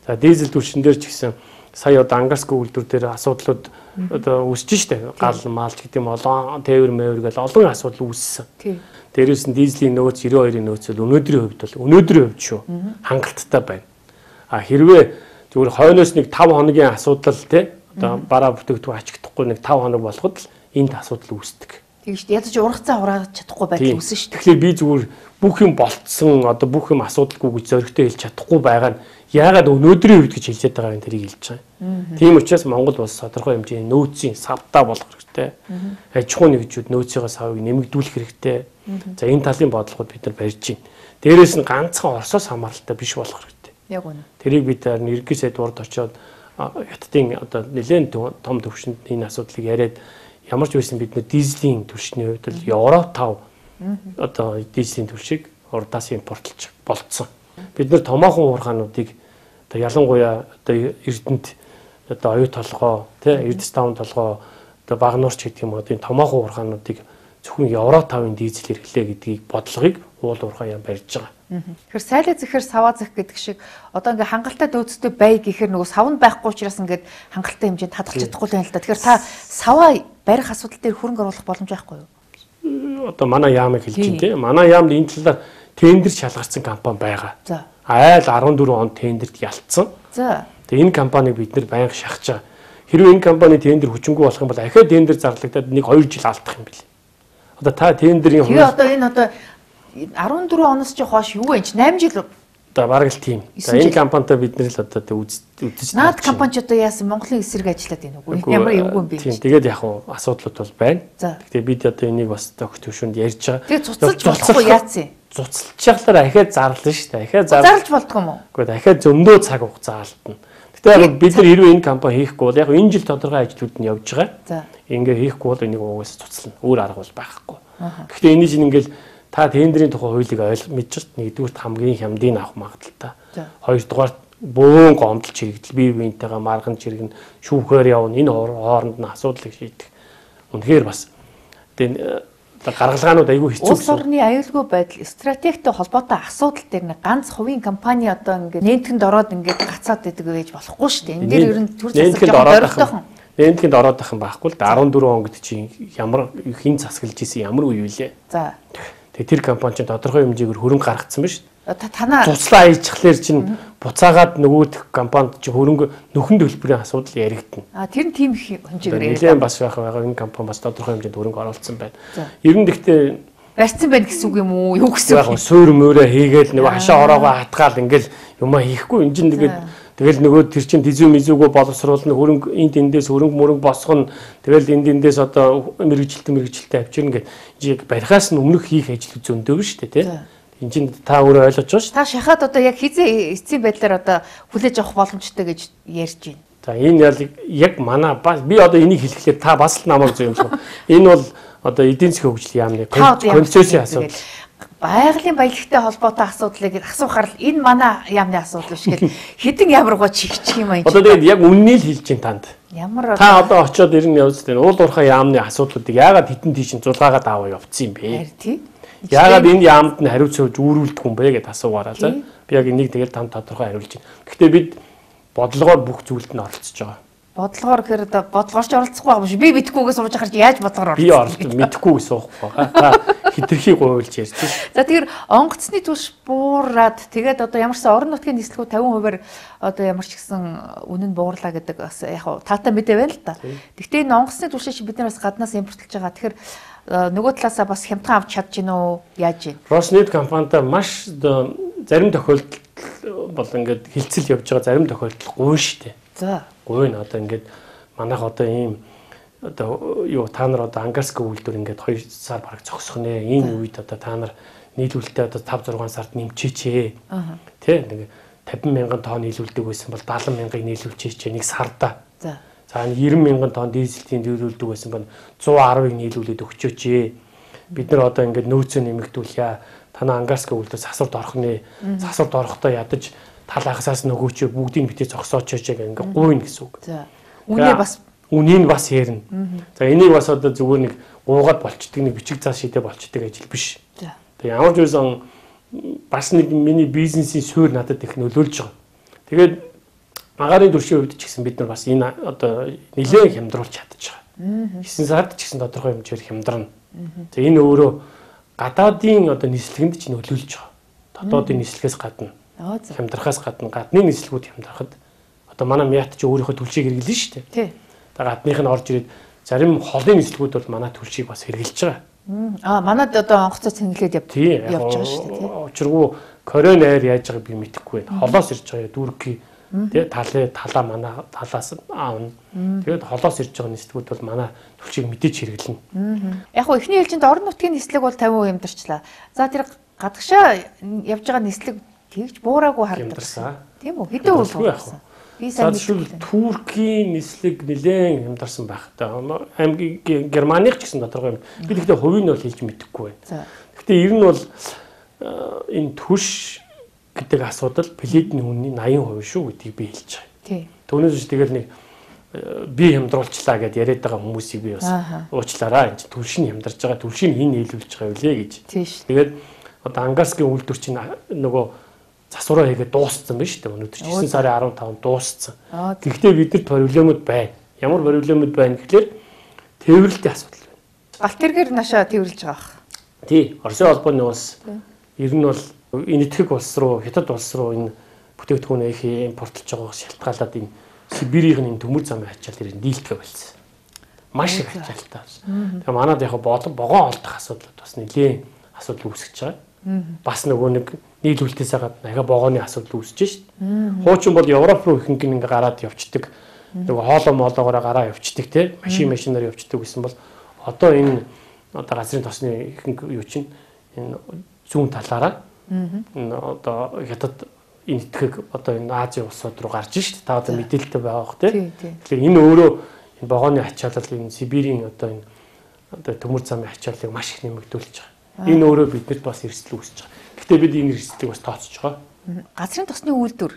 За дизель түвшин дээр ч гэсэн сая одоо ангарскын үйлдвэр дээр асуудлууд одоо үүсэж штэ. Гал маалч гэдэг юм олон тээвэр мэвэр гэл олон асуудал үүссэн. Дээрээс нь дизелийн нөөц ninety-two-ийн нөөц бол өнөөдрийн хувьд бол өнөөдрийн хувьд шүү хангалттай байна. А хэрвээ зүгээр хойноос нэг five хоногийн асуудал те одоо бараа бүтээгдэхүүн ачигдахгүй нэг five хоног болоход л энд асуудал үүсдэг. Тэгэж ядаж ургацаа ураагаад чадахгүй байдал үүсэн шүү дээ. Тэгэхээр би зүгээр бүх юм болцсон одоо бүх юм асуудалгүй гэж зөрөгтэй хэлж чадахгүй байгаа нь яагаад өнөөдрийн үед гэж хэлж байгаа юм тэрийг хэлж байгаа. Тийм учраас Монгол улс тодорхой хэмжээний нөөцийн савтаа болох хэрэгтэй. Аж ахуйн нэгжүүд нөөцийн савыг нэмэгдүүлэх хэрэгтэй. За энэ талын бодлогод бид нар барьж байна. Дээрээс нь ганцхан Оросоос хамааралтай биш болох хэрэгтэй. Яг үнэ. Тэрийг бид нэргээ сайд урд очоод хятадын одоо нэлээд том төвшөнд энэ асуудлыг яриад ямар ч байсан бид нэ дизелийн түвшний хувьд л евро five одоо дизелийн түвшийг урдаас импортлж болцсон. Бид нэр томоохон уурхаануудыг одоо ялангуяа одоо Эрдэнэт одоо оюу толгой тий Эрдэс таван толгой одоо Багнуурч гэдэг юм уу энэ томоохон уурхаануудыг зөвхөн евро five-ын дизель хэрэглээ гэдгийг бодлогыг уул уурхаа юм барьж байгаа. Тэгэхээр сайлаа зэхэр саваа зэх гэдэг шиг одоо ингээ хангалттай нөөцтэй бай гэхээр нөгөө савнд байхгүй учраас ингээд хангалттай хэмжээнд хадгалж чадахгүй юм л да. Тэгэхээр та саваа барих асуудал дээр хөрөнгө оруулах боломж байхгүй юу? Одоо манай яамыг хэлж байна тийм. Манай яамд энэ талаар тендер шалгарсан компани байгаа. За. Айл fourteen онд тендерт ялцсан. За. Тэгээ энэ компаниг бид нэр байнга шахаж байгаа. Хэрвээ энэ компани тендер хүчингүй болох юм бол ахиад тендер зарлагдаад нэг two жил алдах юм бэл. Одоо та тендерийн Тэгээ одоо энэ одоо fourteen оноос ч хойш юу вэ? eight жил одоо бараг л тийм. За энэ компанитай бид нэр л одоо үзэж наад компани ч одоо яасан Монголын эсрэг ажиллаад байна уу? Ямар эвгүй юм бэ? Тийм. Тэгээд яг хуу асуудлууд бол байна. Гэхдээ бид одоо энийг бас төгс төвшөнд ярьж байгаа. Тэгээд цуцалж болохгүй яац юм? Цуцалж яхалаар ахиад зарлаа шүү дээ. Ахиад зарлж болдгоо юм уу? Гэхдээ ахиад зөндөө цаг хугацаа алдна. Тэгтээ бид нар хэрвээ энэ компани хийхгүй бол яг энэ жил тодорхой ажлууд нь явж байгаа. За. Ингээ хийхгүй бол энийг угаасаа цуцлана. Өөр арга бол байхгүй. Гэхдээ энэ чинь ингээл та тендерийн тухай хуулийг ойлгож мэдчихт нэгдүгээр хамгийн хямдыг авах магадaltaй. Хоёрдугаар бөөн гомдол чирэгдэл бие биентэйгээ марган чирэгэн шүүхээр явна. Энэ хооронд нь асуудлыг шийдэх. Үнэхээр бас тэгээ гаргалгаанууд айгүй хэцүү. Улс орны аюулгүй байдал стратегтэй холбоотой асуудал дээр нэг ганц хувийн компани одоо ингээд нэнтгэнд ороод ингээд гацаад идэг байж болохгүй шүү дээ. Энэ дээр ер нь төр засаг зорилтойхон. Нэнтгэнд ороод байх юм байхгүй л да арван дөрвөн он гэдэг чинь ямар хин засаглаж исэн ямар үе вэ? За. Тэгээ тэр компани чинь тодорхой хэмжээгээр хөрөнгө гаргацсан байна шүү дээ. Танаа туслаа аяжчихлаар чинь буцаагаад нөгөө компанид чинь хөрөнгө нөхөн төлбөрийн асуудал яригдана. А тэр нь тийм их хэмжээгээр яригдана. Бас байх байгаа энэ компани бас тодорхой хэмжээнд хөрөнгө оруулсан байна. Ер нь гэхдээ барьсан байна гэсэн үг юм уу? Юу гэсэн үг? Яг суур мөрөө хийгээл нөгөө хашаа ороогоо хатгаал ингээл юмаа хийхгүй энэ чинь тэгээд тэгэл нөгөө тэр чинь дизүү мизүүгөө боловсруулна хөрөнгө энд эндээс хөрөнгө мөрөнгө босгоно тэгэл энд эндээс одоо мэрэгжилтэн мэрэгжилтэн авчирна гэж барихаас нь өмнөх хийх ажил зөндөө шүү дээ тий. Энд чинь та өөрөө ойлгож байгаа шүү. Та шахаад одоо яг хизээ эцсийн байдлаар одоо хүлээж авах боломжтой гэж ярьж байна. За энэ яг манай би одоо энийг хэлэхлээр та бас л намайг зөв юм шиг. Энэ бол одоо эдийн засгийн хөгжил яамны концепцийн асуудал. Байгалийн баялагтай холбоотой асуудлыг асуухаар л энэ манай яамны асуудал биш гэл хэдэн ямар гоо чигчих юм аа энэ. Одоо тэгээд яг үннийг хэлж чинь танд. Ямар та одоо очиод ирнэ явж тань уул уурхай яамны асуудлуудыг яагаад хитэн тийш зулгаагаад аваа явцсан юм бэ? Тий. Яагаад энд яамд нь хариуцж үүрүүлдэг юм бэ гэдээ асуугаараа за. Би яг энийг тэгэл танд тодорхой хариулж байна. Гэхдээ бид бодлогоор бүх зүйлд нь оролцож байгаа. Бодлогоор гэхээр бодлогоорч оролцохгүй байгаа юм шиг. Би мэдэхгүйгээ сууж ахарч яаж бодлогоор оролцох? Би оролцох мэдэхгүйгээ суухгүй байгаа. Та хитрхи гуйлж ярьж байна. За тэгэхээр онгоцны түвш буураад тэгээд одоо ямарсан орон нутгийн нислэгүүд тавин хувиар одоо ямар ч гэсэн үнэн буурлаа гэдэг бас яг таатай мэдээ байна л да. Гэхдээ энэ онгоцны түвшээ чи бид нар бас гаднаас импортлж байгаа. Тэгэхээр нөгөө талаасаа бас хямдхан авч чадж гин үү? Яаж вэ? Роснет компанитай маш зарим тохиолдол бол ингээд хилцэл явж байгаа зарим тохиолдол гуйн штэ. За. Гуйн одоо ингээд манайх одоо ийм одоо юу та нар одоо ангарская үйлдвэр ингээд хоёр сар бараг зогсох нэ. Энэ үед одоо та нар нийлүүлэлтээ одоо тавь зургаан сард нэмчихээ. Аа. Тэ нэг тавин мянган тонн нийлүүлдэг байсан бол даалан мянгаыг нийлүүлчихээ нэг сарда. За. За нирэн мянган тонн дизелтийн нийлүүлдэг байсан бол зуун аравыг нийлүүлээд өгчөөч. Бид нар одоо ингээд нөөцөө нэмэгдүүлье. Танаа ангарская үйлдвэр засварт орох нэ. Засварт орохдоо ядаж талаахсаас нөгөөчөө бүгдийг битээ зогсооч гэх ингээд гуйна гэсэн үг. За. Үнээ бас үнийг бас ярина. За энийг бас одоо зүгээр нэг гуугаад болчдөг нэг бичиг цаас шидэ болчдөг ажил биш. За. Тэг ямар ч байсан бас нэг миний бизнесийн суурь надад их нөлөөлж байгаа. Тэгээд агаарын түвшийн хувьд ч гэсэн бид нар бас энэ одоо нэлээд хямдруулж чадчихаа. хэсэг сард ч гэсэн тодорхой хэмжээр хямдарна. За энэ өөрөө гадаадын одоо нислэгэнд ч нөлөөлж байгаа. Дотоодын нислэгээс гадна. Хямдрахаас гадна гадны нислэгүүд хямдрахад одоо манай мят ч өөрийнхөө түлшийг хэрэглэн шүү дээ. Тий. Тэгээ гадных нь орж ирээд зарим холын нислэгүүд бол манай түлшийг бас хэрэглэж байгаа. Аа манад одоо онгоцоо цэнгэлээд явж байгаа шүү дээ. Тий. Учиргүй Корей найр яаж байгааг би мэдэхгүй байна. Холоос ирж байгаа дүүрки тэгээ талаа талаа манай талаас аавна. Тэгээд холоос ирж байгаа нислэгүүд бол манай түлшийг мэдээж хэрэглэнэ. Яг хөө эхний ээлжинд орон нутгийн нислэг бол фifty percent ямдарчлаа. За тэр гадагшаа явж байгаа нислэг тэгж буураагүй харагдсан. Тийм үү? Хэдэн үйл болсон? Би сайн мэдгүй. Туркийн нислэг нэлээд хямдарсан байх. Аймгийн Германых ч гэсэн тодорхой юм. Би тэгтээ хувийг нь бол хэлж мэдэхгүй байна. Гэхдээ ер нь бол энэ түш гэдэг асуудал пледний үнийн eighty percent шүү гэдгийг би хэлж байгаа. Тийм. Түүнээс ч тэгэл нэг би хямдруулчлаа гэдээ яриад байгаа хүмүүсийг би бас уучлаарай. Энд түлш нь хямдарч байгаа. Түлшийг хин нийлүүлж байгаа үлээ гэж. Тэгээд одоо ангарская үйлдвэр чинь нөгөө засвараа хийгээд дууссан байна шүү дээ. Өнөөдөр nine сарын fifteen дууссан. Гэхдээ бидэд проблемууд байна. Ямар проблемууд байна гэхэлэр тээвэрлэлтийн асуудал байна. Галт тэргээр нашаа тээвэрлж байгаа бах. Тий, Оросын холбооны улс ер нь бол энэтхэг улс руу, хятад улс руу энэ бүтээгдэхүүнээ их импортлж байгаа шалтгаалаад энэ Сибирийн энэ төмөр замын ачаал дээр дийлдэхэ болсон. Маш их ачаалтай. Тэгээ манад яг богоон олдох асуудлууд бас нэлээд асуудал үүсгэж байгаа. Бас нөгөө нэг нийлүүлэлтээс гадна ахаа богооны асуудал үүсэж шít. Хуучин бол Европ руу ихэнх нь ингээ гараад явцдаг. Нөгөө хоолоо моолоогоор гараа явцдаг те машин машинаар явцдаг гэсэн бол одоо энэ одоо газрын тосны ихэнх юу чинь энэ зүүн талаараа энэ одоо хятад энэ итгэх одоо энэ Азийн улсууд руу гарч шít. Та одоо мэдээлэлтэй байгаа бох тий. Тэгэхээр энэ өөрөө энэ вагоны ачаалал энэ Сибирийн одоо энэ одоо төмөр замын ачааллыг маш их нэмэгдүүлж байгаа. Энэ өөрөө биднэрт бас эрсдэл үүсэж байгаа. Гэхдээ бид энэ эрсдлийг бас тооцож байгаа. Газрын тосны үйлдвэр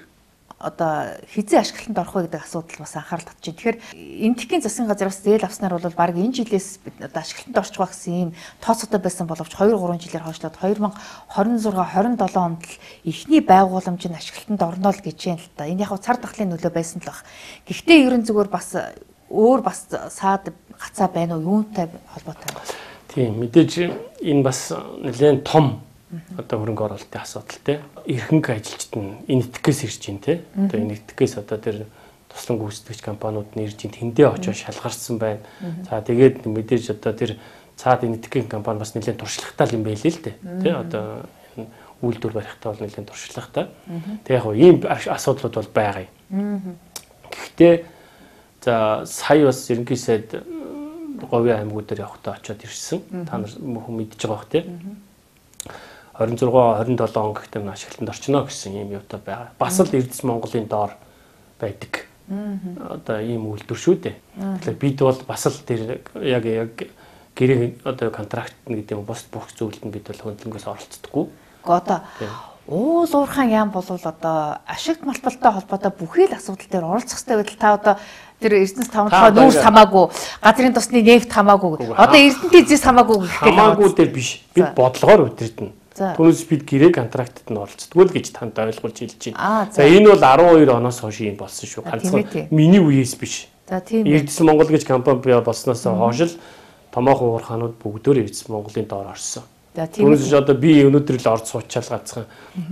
одоо хизээ ашиглалтанд орох вэ гэдэг асуудал бас анхаарал татж байна. Тэгэхээр энтхийн засгийн газар бас зээл авснаар бол баг энэ жилээс одоо ашиглалтанд орчих байх гэсэн ийм тооцоотой байсан боловч two three жилээр хойшлоод twenty twenty-six twenty-seven онд л эхний байгууламж нь ашиглалтанд орно л гэж байна л та. Энэ яг цар тахлын нөлөө байсан л баг. Гэхдээ ерөн зүгээр бас өөр бас саад гацаа байна уу юунтай холбоотой байна. Тийм мэдээж энэ бас нэлээд том одоо хөрөнгө оруулалтын асуудал те. Эрхэнг ажилчид нь энэ итгэхээс ирж байна те. Одоо энэ итгэхээс одоо тэр туслан гүйцэтгэгч компаниуд нь ирж байна. Тэндээ очиж шалгарсан байна. За тэгээд мэдээж одоо тэр цаад энэ итгэхийн компани бас нэлээд туршлагатай юм байлээ л те. Тэ одоо үйлдвэр барихтаа бол нэлээд туршлагатай. Тэг яг ийм асуудлууд бол байгаа юм. Гэхдээ за сая бас ерөнхий сайд говийн аймагуд дээр явахдаа очиод ирсэн. Та нар хүн мэдж байгаа бох те. twenty-six twenty-seven он гэхдээ ашиглалтанд орчно гэсэн ийм юутай байгаа. Бас л Эрдэс Монголын доор байдаг. Одоо ийм үйлдвэр шүү дээ. Тэгэхээр бид бол бас л тэр яг яг гэрээ одоо контракт гэдэг юм бос бүх зүйлд нь бид бол хөндлөнгөөс оролцдоггүй. Одоо уул уурхаан яам болвол одоо ашигт малталтай холбоотой бүхий л асуудал дээр оролцох хэрэгтэй байтал та одоо тэр Эрдэнэс тавталгаа нүүрс хамаагүй, газрын тосны нефт хамаагүй, одоо Эрдэнэтийн зэс хамаагүй гэх гээд хамаагүй дээр биш. Бид бодлогоор удирдна. Түүнээс бид гэрээ контрактад нь оролцдог л гэж танд ойлгуулж хэлж байна. За энэ бол twelve оноос хойш юм болсон шүү. Ганцхан миний үеэс биш. За тийм. Эрдэс Монгол гэж компани бий болсноос хойш л томоохон уурхаанууд бүгдөө Эрдэс Монголын доор орсон. Түүнээс одоо би өнөөдөр л орж суучаал гацхан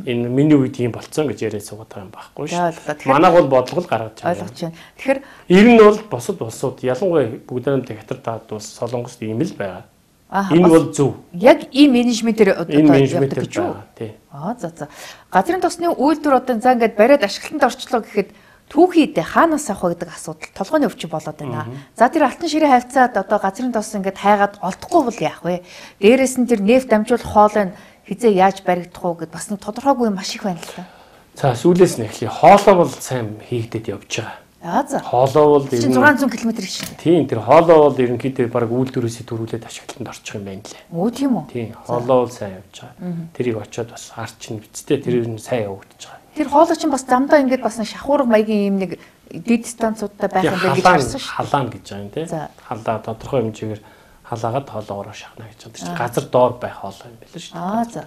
энэ миний үед юм болцсон гэж яриад суугаад байгаа юм байхгүй шүү. Манайг бол бодлого л гаргаж байгаа. Ойлгож байна. Тэгэхээр ер нь бол босод улсууд ялангуяа бүгдээрээ хятад таад улс Солонгост ийм л байгаа. Энэ бол зөв. Яг ийм менежментээр одоо явдаг гэж үү? Тий. Аа за за. Газрын тосны үйлдвэр одоо за ингээд бариад ашиглалтанд орчлоо гэхэд түүхийдээ хаанаас авах вэ гэдэг асуудал толгойн өвчин болоод байна. За тэр алтан ширээ хавцаад одоо газрын тос ингээд хайгаад олдохгүй бол яах вэ? Дээрээс нь тэр нефт дамжуулах хоолой нь хизээ яаж баригдах уу гэд бас нэг тодорхойгүй маш их байна л та. За сүүлээс нь эхлэе. Хоолой бол сайн хийгдэд явж байгаа. Аа за. Хоолой бол six hundred км шүү. Тийм тэр хоолой бол ерөнхийдөө баг үйлдвэрээс төрүүлээд ашиглалтанд орчих юм байна лээ. Өө тийм үү? Тийм хоолой бол сайн явж байгаа. Тэрийг очиод бас харч нь бицтэй тэр нь сайн явагдаж байгаа. Тэр хоолой чинь бас замдаа ингээд бас шахуурга маягийн юм нэг дэд станцуудтай байх юм байна гэж харсан шүү. Халаан гэж байгаа юм тий. Халаа тодорхой хэмжээгээр халаагаад хоолоогоор шахна гэж байгаа. Газар доор байх хоолой юм байна шүү. Аа за.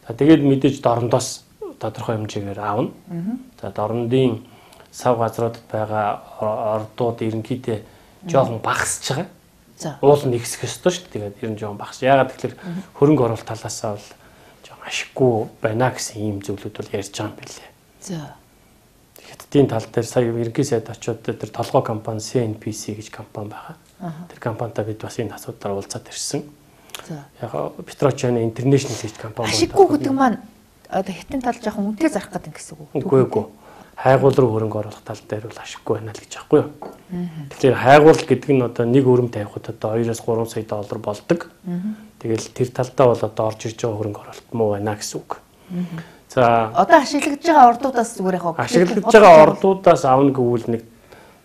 За тэгээд мэдээж дорндоос тодорхой хэмжээгээр аавна. За дорндын сав газруудад байгаа ордууд ерөнхийдөө жоохон багасж байгаа. За. Уул нь ихсэх ёстой шүү дээ. Тэгээд ер нь жоохон багас. Яагаад тэгэхээр хөрөнгө оруулалт талаасаа бол жоохон ашиггүй байна гэсэн ийм зүйлүүд бол ярьж байгаа юм билээ. За. Хятадын тал дээр сая ерөнхий сайд очиод тэр толгой компани си эн пи си гэж компани байгаа. Тэр компанитай бид бас энэ асуудлаар уулзаад ирсэн. За. Яг Petrochina International гэж компани байна. Ашиггүй гэдэг маань одоо хятадын тал жоохон үнэтэй зарах гэдэг гэсэн үг. Үгүй ээ. Хайгуул руу хөрөнгө оруулах тал дээр бол ашиггүй байна л гэж аахгүй юу. Тэгэхээр хайгуул гэдэг нь одоо нэг өрөм тавихад одоо two-оос three сая доллар болдог. Тэгэл тэр талдаа бол одоо орж ирж байгаа хөрөнгө оруулалт муу байна гэсэн үг. За одоо ашиглаж байгаа ордуудаас зүгээр яг ашиглаж байгаа ордуудаас авна гэвэл нэг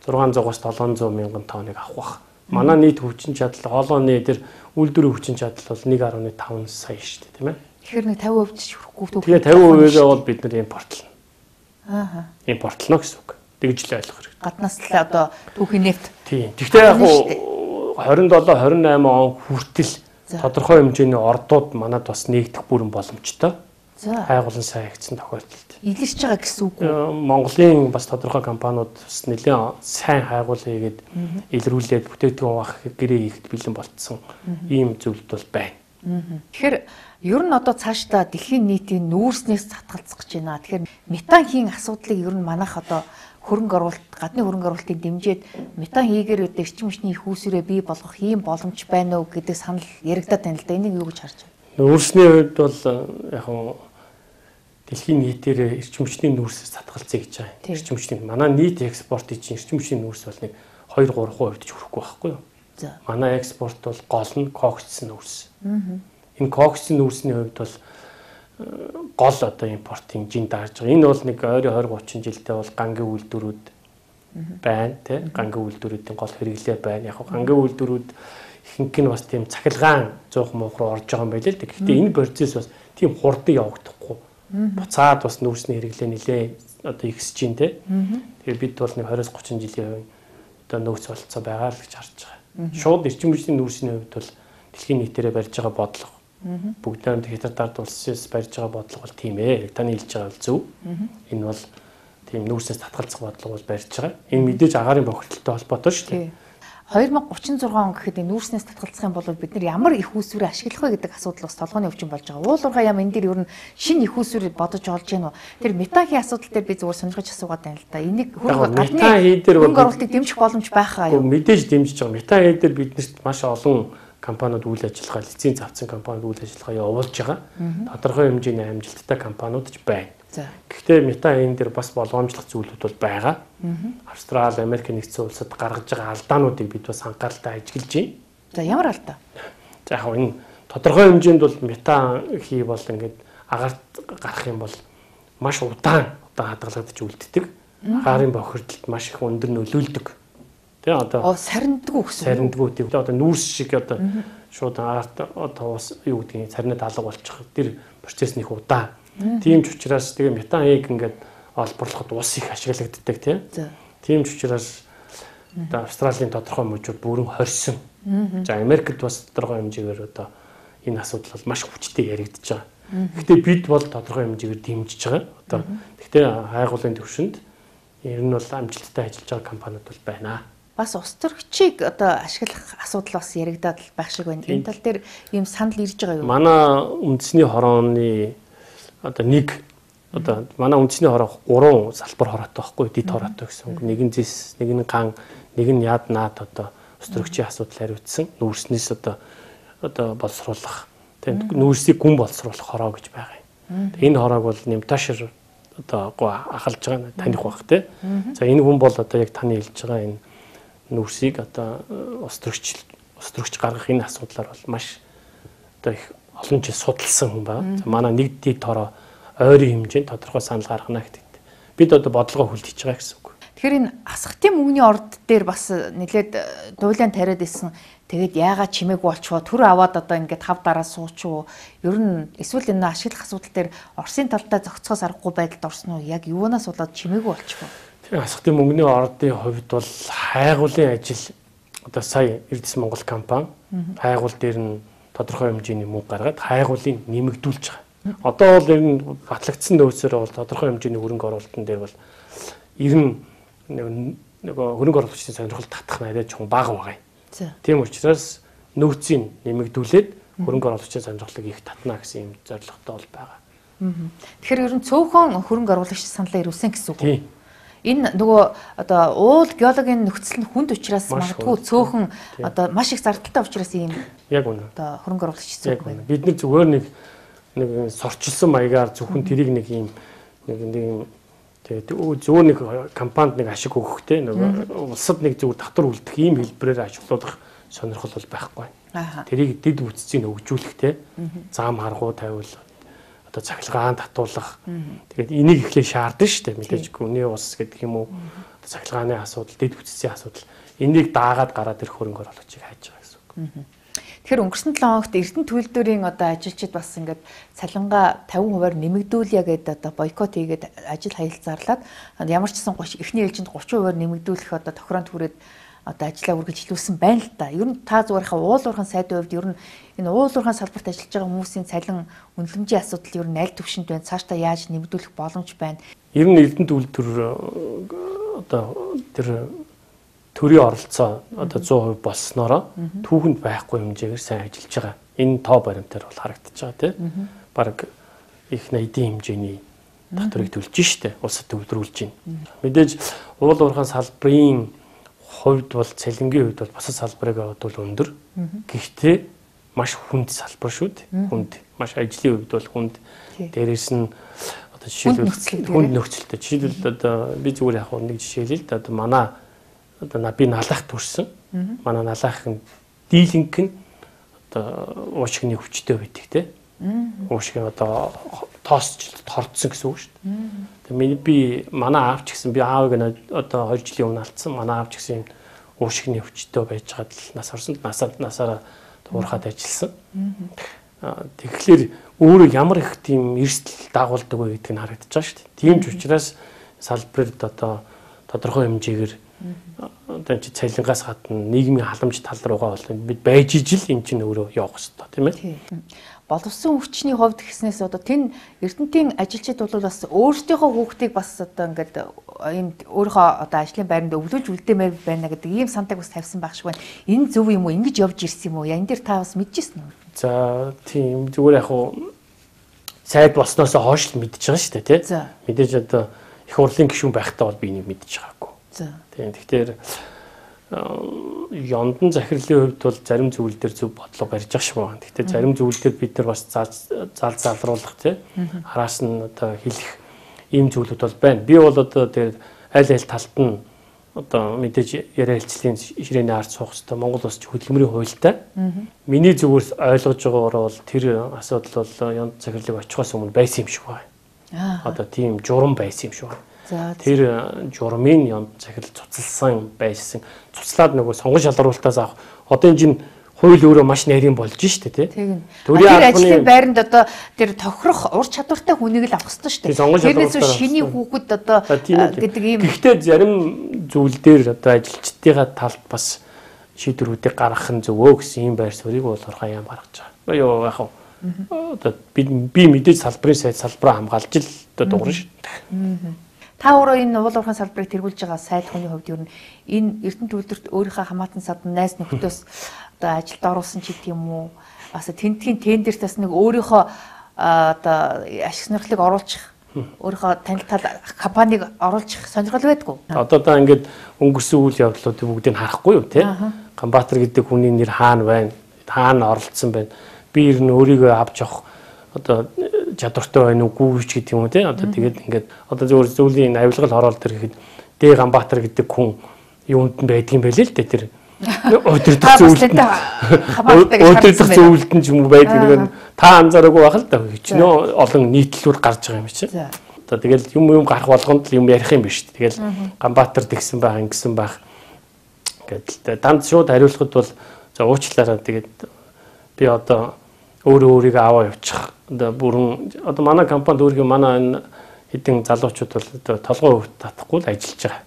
six hundred-аас seven hundred мянган тонныг авах бах. Манай нийт хүчин чадал хоолойны тэр үйлдвэрийн хүчин чадал бол one point five сая шүү дээ тийм ээ. Тэгэхээр нэг fifty percent ч хүрэхгүй төв. Тэгээ fifty percent-ээ бол бид нар импортлно. Аа. Импортлно гэсэн үг. Тэгж л ойлгох хэрэгтэй. Гаднаас л одоо түүхийн нефт. Тийм. Гэхдээ яг twenty-seven twenty-eight он хүртэл тодорхой хэмжээний ордууд манад бас нэгдэх бүрэн боломжтой. За. Хайгуулан сайн хийгдсэн тохиолдолд. Илэрч байгаа гэсэн үг үү? Монголын бас тодорхой компаниуд бас нэлээд сайн хайгуул хийгээд илрүүлээд бүтээгдэхүүн авах гэрээ хийхэд бэлэн болцсон ийм зүйлд бол байна. Тэгэхээр ер нь одоо цаашдаа дэлхийн нийтийн нүүрснээс татгалзах гэж байна. Тэгэхээр метан хийн асуудлыг ер нь манайх одоо хөрөнгө оруулалт, гадны хөрөнгө оруулалтыг дэмжиж метан хийгээр өдөө эрчим хүчний их үүсвэрээ бий болгох ийм боломж байна уу гэдэг санал яригадаад байна л да. Энийг юу гэж харж байна? Нүүрсний хувьд бол яг нь дэлхийн нийтээр эрчим хүчний нүүрсээс татгалзъя гэж байгаа. Эрчим хүчний манай нийт экспортын чинь эрчим хүчний нүүрс бол нэг two three хувьд ч хүрэхгүй байхгүй юу? За. Манай экспорт бол гол нь коксцын нүүрс. Энэ коксцын нүүрсний хувьд бол гол одоо импортын жин даарж байгаа. Энэ бол нэг ойрын двадцать тридцать жилдээ бол гангийн үйлдвэрүүд байна тий. Гангийн үйлдвэрүүдийн гол хэрэглээ байна. Яг гангийн үйлдвэрүүд ихэнх нь бас тийм цахилгаан зуух муух руу орж байгаа юм байл л. Гэхдээ энэ процесс бас тийм хурдан явагдахгүй. Буцаад бас нүүрсний хэрэглээ нэлээ одоо ихсэж чинь тий. Тэгээ бид бол нэг двадцать тридцать жилийн одоо нөөц болцоо байгаа л гэж харж байгаа. Шууд эрчим хүчний нүүрсний хувьд бол дэлхийн нийтээрээ барьж байгаа бодлого бүгд найрамд хятадд улсаас барьж байгаа бодлого бол тийм ээ. Таны хэлж байгаа бол зөв. Энэ бол тийм нүүрснээс татгалзах бодлого бол барьж байгаа. Энэ мэдээж агаарын бохирдолтой холбоотой шүү дээ. двадцать тридцать он гэхэд энэ нүүрснээс татгалзах юм бол бид нар ямар их үүсвэрээ ашиглах вэ гэдэг асуудал бас толгойн өвчин болж байгаа. Уул уурхай яам энэ дээр ер нь шинэ их үүсвэр бодож олж гэнэ үү? Тэр метахийн асуудал дээр би зүгээр сонирхож асуугаад байна л да. Энийг хөрөнгө хөрөнгө оруулалтыг дэмжих боломж байхаа юу? Мэдээж дэмжиж байгаа. Метахийн дээр биднэрт маш олон компаниуд үйл ажиллагаа, лиценз авсан компаниуд үйл ажиллагаа явуулж байгаа. Тодорхой хэмжээний амжилттай компаниуд ч байна. Гэхдээ мета энэ дээр бас болгоомжлох зүйлүүд бол байгаа. Австрали, Америк нэгдсэн улсад гаргаж байгаа алдаануудыг бид бас анхааралтай ажиглаж байна. За ямар алдаа? За яг энэ тодорхой хэмжээнд бол мета хий бол ингээд агаарт гарах юм бол маш удаан одоо хадгалагдаж үлддэг. Агаарын бохирдолд маш их өндөр нөлөөлдөг. Тэ одоо сарниндгүй гэсэн. Сарниндгүй тийм. Одоо нүүрс шиг одоо шууд агаарт одоо бас юу гэдгийг царнад алга болчих. Тэр процесс нэг удаан. Тийм ч учраас тэгээ метанийг ингээд олборлоход ус их ашиглагддаг тийм. Тийм ч учраас одоо Австралийн тодорхой мужууд бүрэн хорьсон. За Америкт бас тодорхой хэмжээгээр одоо энэ асуудал бол маш хүчтэй яригдж байгаа. Гэхдээ бид бол тодорхой хэмжээгээр дэмжиж байгаа. Одоо гэхдээ хайгуулын төвшөнд ер нь бол амжилттай ажиллаж байгаа компаниуд бол байна. Бас ус төрөгчийг одоо ашиглах асуудал бас яригдаад байх шиг байна. Энэ тал дээр ийм санал ирж байгаа юу? Манай үндэсний хорооны одоо нэг одоо манай үндэсний хороо гурван салбар хороотой байхгүй дид хороотой гэсэн. Нэг нь зис, нэг нь ган, нэг нь яд наад одоо ус төрөгчийн асуудал хариуцсан. Нүүрснээс одоо одоо боловсруулах, тийм нүүрсийг гүн боловсруулах хороо гэж байгаа юм. Энэ хороог бол Нэмташир одоо ахалж байгаа таних баг тийм. За энэ хүн бол одоо яг таны хэлж байгаа энэ нүүрсийг одоо ус төрөгч ус төрөгч гаргах энэ асуудлаар бол маш одоо их олон жил судалсан хүн байна. Манай нэг дид хороо ойрын хэмжээнд тодорхой санал гаргана гэдэг. Бид одоо бодлогоо хүлээж байгаа гэсэн үг. Тэгэхээр энэ асхтын мөнгөний орд дээр бас нэлээд дуулаан тариад исэн. Тэгээд яагаад чимээгүй болчихвоо төр аваад одоо ингээд хав дараа суучвуу. Ер нь эсвэл энэ ашиглах асуудал дээр Оросын талдаа зохицохоос аргагүй байдалд орсон уу? Яг юунаас болоод чимээгүй болчихвоо? Тэгэхээр асхтын мөнгөний ордын хувьд бол хайгуулын ажил одоо сая Эрдэс Монгол компани хайгуул дээр нь тодорхой хэмжээний мөнгө гаргаад хайгуулыг нэмэгдүүлж байгаа. Одоо бол ер нь батлагдсан нөөцөөр бол тодорхой хэмжээний хөрөнгө оруулалтын дээр бол ер нь нэг хөрөнгө оруулагчдын сонирхол татах найраа чон бага байгаа юм. Тийм учраас нөөцийг нэмэгдүүлээд хөрөнгө оруулагчдын сонирхлыг их татна гэсэн юм зорилготой бол байгаа. Тэгэхээр ер нь цөөхөн хөрөнгө оруулагч саналаа ирүүлсэн гэсэн үг үү? Энэ нөгөө одоо уул геологийн нөхцөл нь хүнд учраас магадгүй цөөхөн одоо маш их зардалтай учраас ийм яг үнэ. Одоо хөрөнгө оруулагч зүг байна. Бид нэг зүгээр нэг нэг сорчилсан маягаар зөвхөн тэрийг нэг ийм нэг нэг тэгээд зөвхөн нэг компанид нэг ашиг өгөхтэй нэг улсад нэг зөвхөн татвар үлдэх ийм хэлбэрээр ажилуулах сонирхол бол байхгүй. Тэрийг дэд бүтцийг өгжүүлэх те зам харгуу тавиул одоо цахилгаан татуулах. Тэгээд энийг эхлээ шаардсан шүү дээ. Мэдээж гүний ус гэдэг юм уу? Цахилгааны асуудал, дэд бүтцийн асуудал. Энийг даагаад гараад ирэх хөрөнгө оруулагчийг хайж байгаа гэсэн үг. Тэгэхээр өнгөрсөн седем хоногт Эрдэнэ төлөвлөрийн одоо ажилчид бас ингээд цалингаа тавин хувиар нэмэгдүүлье гэдэг одоо бойкот хийгээд ажил хаялцаарлаад ямар ч гэсэн эхний ээлжинд гурван хувиар нэмэгдүүлэх одоо тохироонд хүрээд одоо ажиллаа үргэлжлүүлсэн байна л да. Ер нь та зүгээр хаа уул уурхайн сайдын хувьд ер нь энэ уул уурхайн салбарт ажиллаж байгаа хүмүүсийн цалин үнэлэмжийн асуудал ер нь аль төвшөнд байна? Цаашдаа яаж нэмэгдүүлэх боломж байна? Ер нь Эрдэнэ төлөвлөр одоо тэр төрийн оролцоо одоо зуун хувь болсноороо түүхэнд байхгүй хэмжээгээр сайн ажиллаж байгаа. Энэ тоо баримтаар бол харагдаж байгаа тийм. Бараг их найдын хэмжээний татварыг төлж штэ улсад төвлөрүүлж байна. Мэдээж уул уурхайн салбарын хувьд бол цалингийн хувьд бол бусад салбарыг аваад бол өндөр. Гэхдээ маш хүнд салбар шүү дээ. Хүнд маш ажлын хувьд бол хүнд. Дээрээс нь одоо жишээлбэл хүнд нөхцөлтэй. Жишээлбэл одоо би зүгээр яг нэг жишээ хэлээ л да. Одоо манай одоо би налах төрсөн. Манай налахын дийлэнх нь одоо уушигны хүчтэй байдаг те. Уушгийн одоо тоосч тордсон гэсэн үг шүү дээ. Тэгээ би манай аав ч гэсэн би аавыг одоо хоёр жилийн өмнө алдсан. Манай аав ч гэсэн уушгины өвчтөй байж байгаад л нас орсонд насаар насаараа туурхаад ажилласан. Тэгэхээр өөрөө ямар их тийм эрсдэл дагуулдаг вэ гэдг нь харагдаж байгаа шүү дээ. Тийм ч учраас салбарт одоо тодорхой хэмжээгээр одоо чи цалингаас гадна нийгмийн халамж тал руугаа бол бид байж ижил эн чинь өөрөө явах хэрэгтэй тийм ээ. Боловсон өвчний хувьд гэснээс одоо тэн Эрдэнэтийн ажилчид бол бас өөрсдийнхөө хүүхдийг бас одоо ингээд ийм өөрийнхөө одоо ажлын байранд өвлөж үлдээмээр байна гэдэг ийм сантаг бас тавьсан байх шиг байна. Энэ зөв юм уу? Ингэж явж ирсэн юм уу? Ян дээр та бас мэдчихсэн үү? За тийм зүгээр яг хуу сайд болсноос хойш л мэдчихэж байгаа шүү дээ тий. Мэдээж одоо их хурлын гишүүн байхдаа бол би энийг мэдчихэж байгаагүй. Тийм тэгэхээр Ёндон захирлын хувьд бол зарим зүйл дээр зөв бодлого барьж байгаа шиг байна. Гэхдээ зарим зүйл дээр бид нар бас зал залруулах тий араас нь одоо хэлэх ийм зүйлүүд бол байна. Би бол одоо тэр аль аль талд нь одоо мэдээж яриа хэлцлийн ширээний ард суух хэрэгтэй. Монгол улс хөдөлмөрийн хуультай. Миний зүгээс ойлгож байгаагаар бол тэр асуудал бол Ёндон захирлыг очихоос өмнө байсан юм шиг байна. Одоо тийм журам байсан юм шиг байна. Тэр журмын Ёндон захирал цуцалсан байсан. Цуцлаад нөгөө сонгон шалгаруултаас авах. Одоо энэ чинь хууль өөрөө маш нарийн болж штэ тий. Тэр ажлын байранд одоо тэр тохирох ур чадвартай хүнийг л авах хэрэгтэй штэ. Тэрнээс шиний хүүхэд одоо гэдэг ийм. Гэхдээ зарим зүйл дээр одоо ажилчдынхаа талд бас шийдвэрүүдийг гаргах нь зөвөө гэсэн ийм байр суурийг бол урхаа яам гаргаж байгаа. Юу яах вэ? Одоо би би мэдээж салбарын сайд салбараа хамгаалж л одоо дуурна штэ. Та өөрөө энэ уул уурхайн салбарыг тэргүүлж байгаа сайд хүний хувьд ер нь энэ Эрдэнэт үйлдвэрт өөрийнхөө хамаатан садан найз нөхдөөс одоо ажилд оруулсан ч гэдэг юм уу? Бас тентгийн тендерт бас нэг өөрийнхөө одоо ашиг сонирхлыг оруулах, өөрийнхөө танилтал компаниг оруулах сонирхол байдгүй. Одоо та ингээд өнгөрсөн үйл явдлуудыг бүгдийг харахгүй юу те? Ганбаатар гэдэг хүний нэр хаана байна? Хаана оролцсон байна? Би ер нь өөрийгөө авч явах одоо чадвартай байна уугүй ч гэдэг юм уу те одоо тэгээд ингээд одоо зөвхөн зөвлийн авилгал хороол төр гэхэд Дэ Ганбаатар гэдэг хүн юунд нь байдаг юм бэ л л дээ тэр өдөртөх зөвлөлд өдөртөх зөвлөлд нь ч юм уу байдаг нэг та анзаараагүй байх л да хичнээн олон нийтлэлүүд гарч байгаа юм чи одоо тэгэл юм юм гарах болгонд л юм ярих юм биш тэгэл Ганбаатар тэгсэн байх ингэсэн байх гэдэг данд шууд хариулахад бол за уучлаарай тэгээд би одоо өөрөө өөрийгөө аваа явуучих. Одоо бүрэн одоо манай компанид өөрийгөө манай энэ хэдин залуучууд бол одоо толгой өвт татахгүй л ажиллаж байгаа.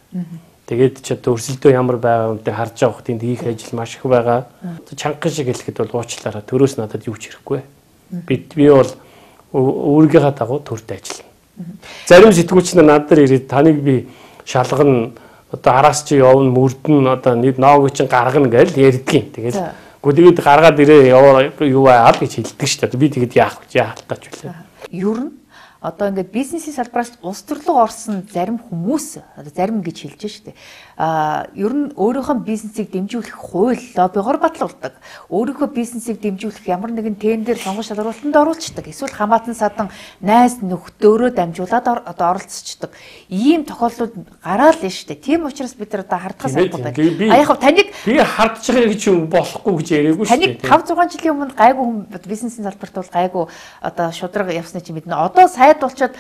Тэгээд ч одоо өрсөлдөө ямар байгаа юмтай харж байгаа хөтөнд хийх ажил маш их байгаа. Чанган шиг хэлэхэд бол уучлаарай. Төрөөс надад юу ч хэрэггүй. Би би бол өөрийнхөө дагуу төрд ажиллана. Зарим сэтгүүлч нар надад ирээд таныг би шалгана одоо араас чи явна мөрдөн одоо нэг ноог чинь гаргана гэж ярьдгийн. Тэгээд Гэхдээ тэгээд гаргаад ирээ юу аа гэж хэлдэг шүү дээ. Би тэгээд яах вэ? Яах тач үлээ. Ер нь одоо ингээд бизнесийн салбараас улс төрлөө орсон зарим хүмүүс одоо зарим гэж хэлж шүү дээ. Аа ер нь өөрийнхөө бизнесийг дэмжүүлэх хууль лоббигоор батлуулдаг. Өөрийнхөө бизнесийг дэмжүүлэх ямар нэгэн тендер сонгон шалгуулалтанд оруулцдаг. Эсвэл хамаатан садан найз нөхдөөрөө дамжуулаад одоо оролцдог. Ийм тохиолдлууд гараал нь шүү дээ. Тийм учраас бид нар одоо хардгаас албад байна. А яг таныг би хардж байгаа гэж юм болохгүй гэж яриаггүй шүү дээ. Таныг тавь зургаан жилийн өмнө гайгүй хүн бизнесийн салбарт бол гайгүй одоо шудраг явсны чинь мэднэ. Одоо сайд болчоод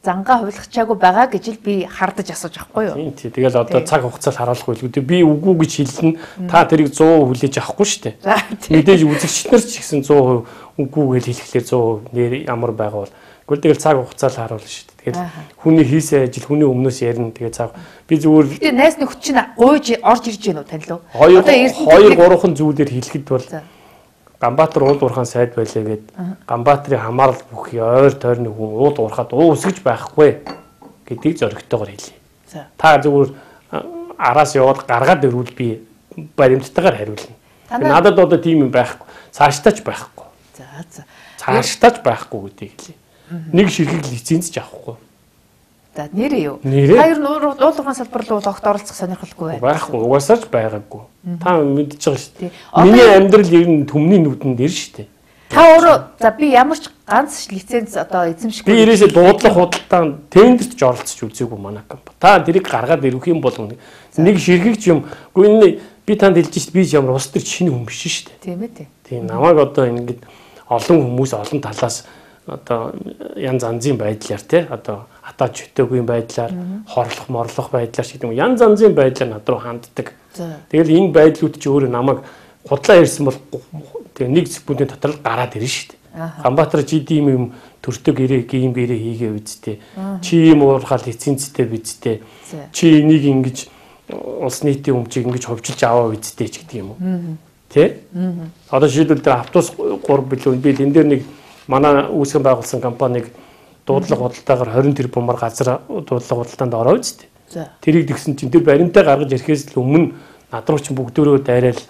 зангаа хувилгачаагүй байгаа гэж л би хардаж асууж байхгүй юу? Тийм тий. Тэгэл одоо цаг хугацаанд харуулах байлгүй. Би үгүй гэж хэлнэ. Та тэрийг сто хүлээж авахгүй шүү дээ. Мэдээж үзэгч нар ч гэсэн сто үгүй гэж хэлэхлээр сто нэр ямар байгаа бол. Гэхдээ тэгэл цаг хугацаанд харуулна шүү дээ. Тэгэл хүний хийсэн ажил хүний өмнөөс ярина. Тэгээ цаг би зүгээр Тэгээ найс нөхд чинь гуйж орж ирж гэнэ үү танилуу? Одоо хоёр гурван зүйлээр хэлэхэд бол Ганбаатар уул уурхаан сайд байлаа гээд Ганбаатарын хамаарал бүхий ойр тойрны хүн уул уурхаад уу үсгэж байхгүй гэдгийг зоригтойгоор хэлье. Та зүгээр араас яваад гаргаад ирвэл би баримттайгаар хариулна. Надад одоо тийм юм байхгүй. Цаашдаач байхгүй. За за. Цаашдаач байхгүй гэдгийг хэлье. Нэг ширхэг лиценз ч авахгүй. За нэрээ юу? Та ер нь уул уурхаан салбар руу огт оролцох сонирхолгүй байна. Байхгүй. Угаасаач байгаагүй. Та мэдчихэж байгаа шүү дээ. Миний амьдрал ер нь төмний нүдэнд ир шүү дээ. Та өөрөө за би ямар ч ганц лиценз одоо эзэмшгүй. Би ерөөсөө дуудлага худалдаанд тендерт ч оролцож үзээгүй манай компани. Та тэрийг гаргаад ирэх юм бол нэг ширхэгч юм. Гэхдээ би танд хэлж шít би ямар ус төр шинэ хүн биш шүү дээ. Тийм ээ тий. Тийм намайг одоо ингэж олон хүмүүс олон талаас одоо янз янзын байдлаар тий одоо атаж хөтөөгүй байдлаар хорлох морлох байдлаар шиг юм янз янзын байдлаар над руу ханддаг. Тэгэл энэ байдлууд чи өөрөө намайг худлаа ирсэн бол тэгээ нэг секундын дотор гараад ирнэ шүү дээ. Ганбаатар чи ийм юм төртөг ирээ ийм гэрээ хийгээ үсттэй. Чи ийм уурхаал эцэнцтэй бидтэй. Чи энийг ингэж улс нийтийн өмчийг ингэж ховжилж аваа үсттэй ч гэдэг юм уу. Тэ? Одоо жишээлбэл дээр автобус гурав билүү би энэ дээр нэг манай үүсгэн байгуулсан компаниг дуудлага худалдаагаар хорин тэрбумаар газар дуудлага худалдаанд ороо үсттэй. Тэрийг тэгсэн чинь тэр баримтаа гаргаж ирэхээс л өмнө над руу чинь бүгдөө дайраал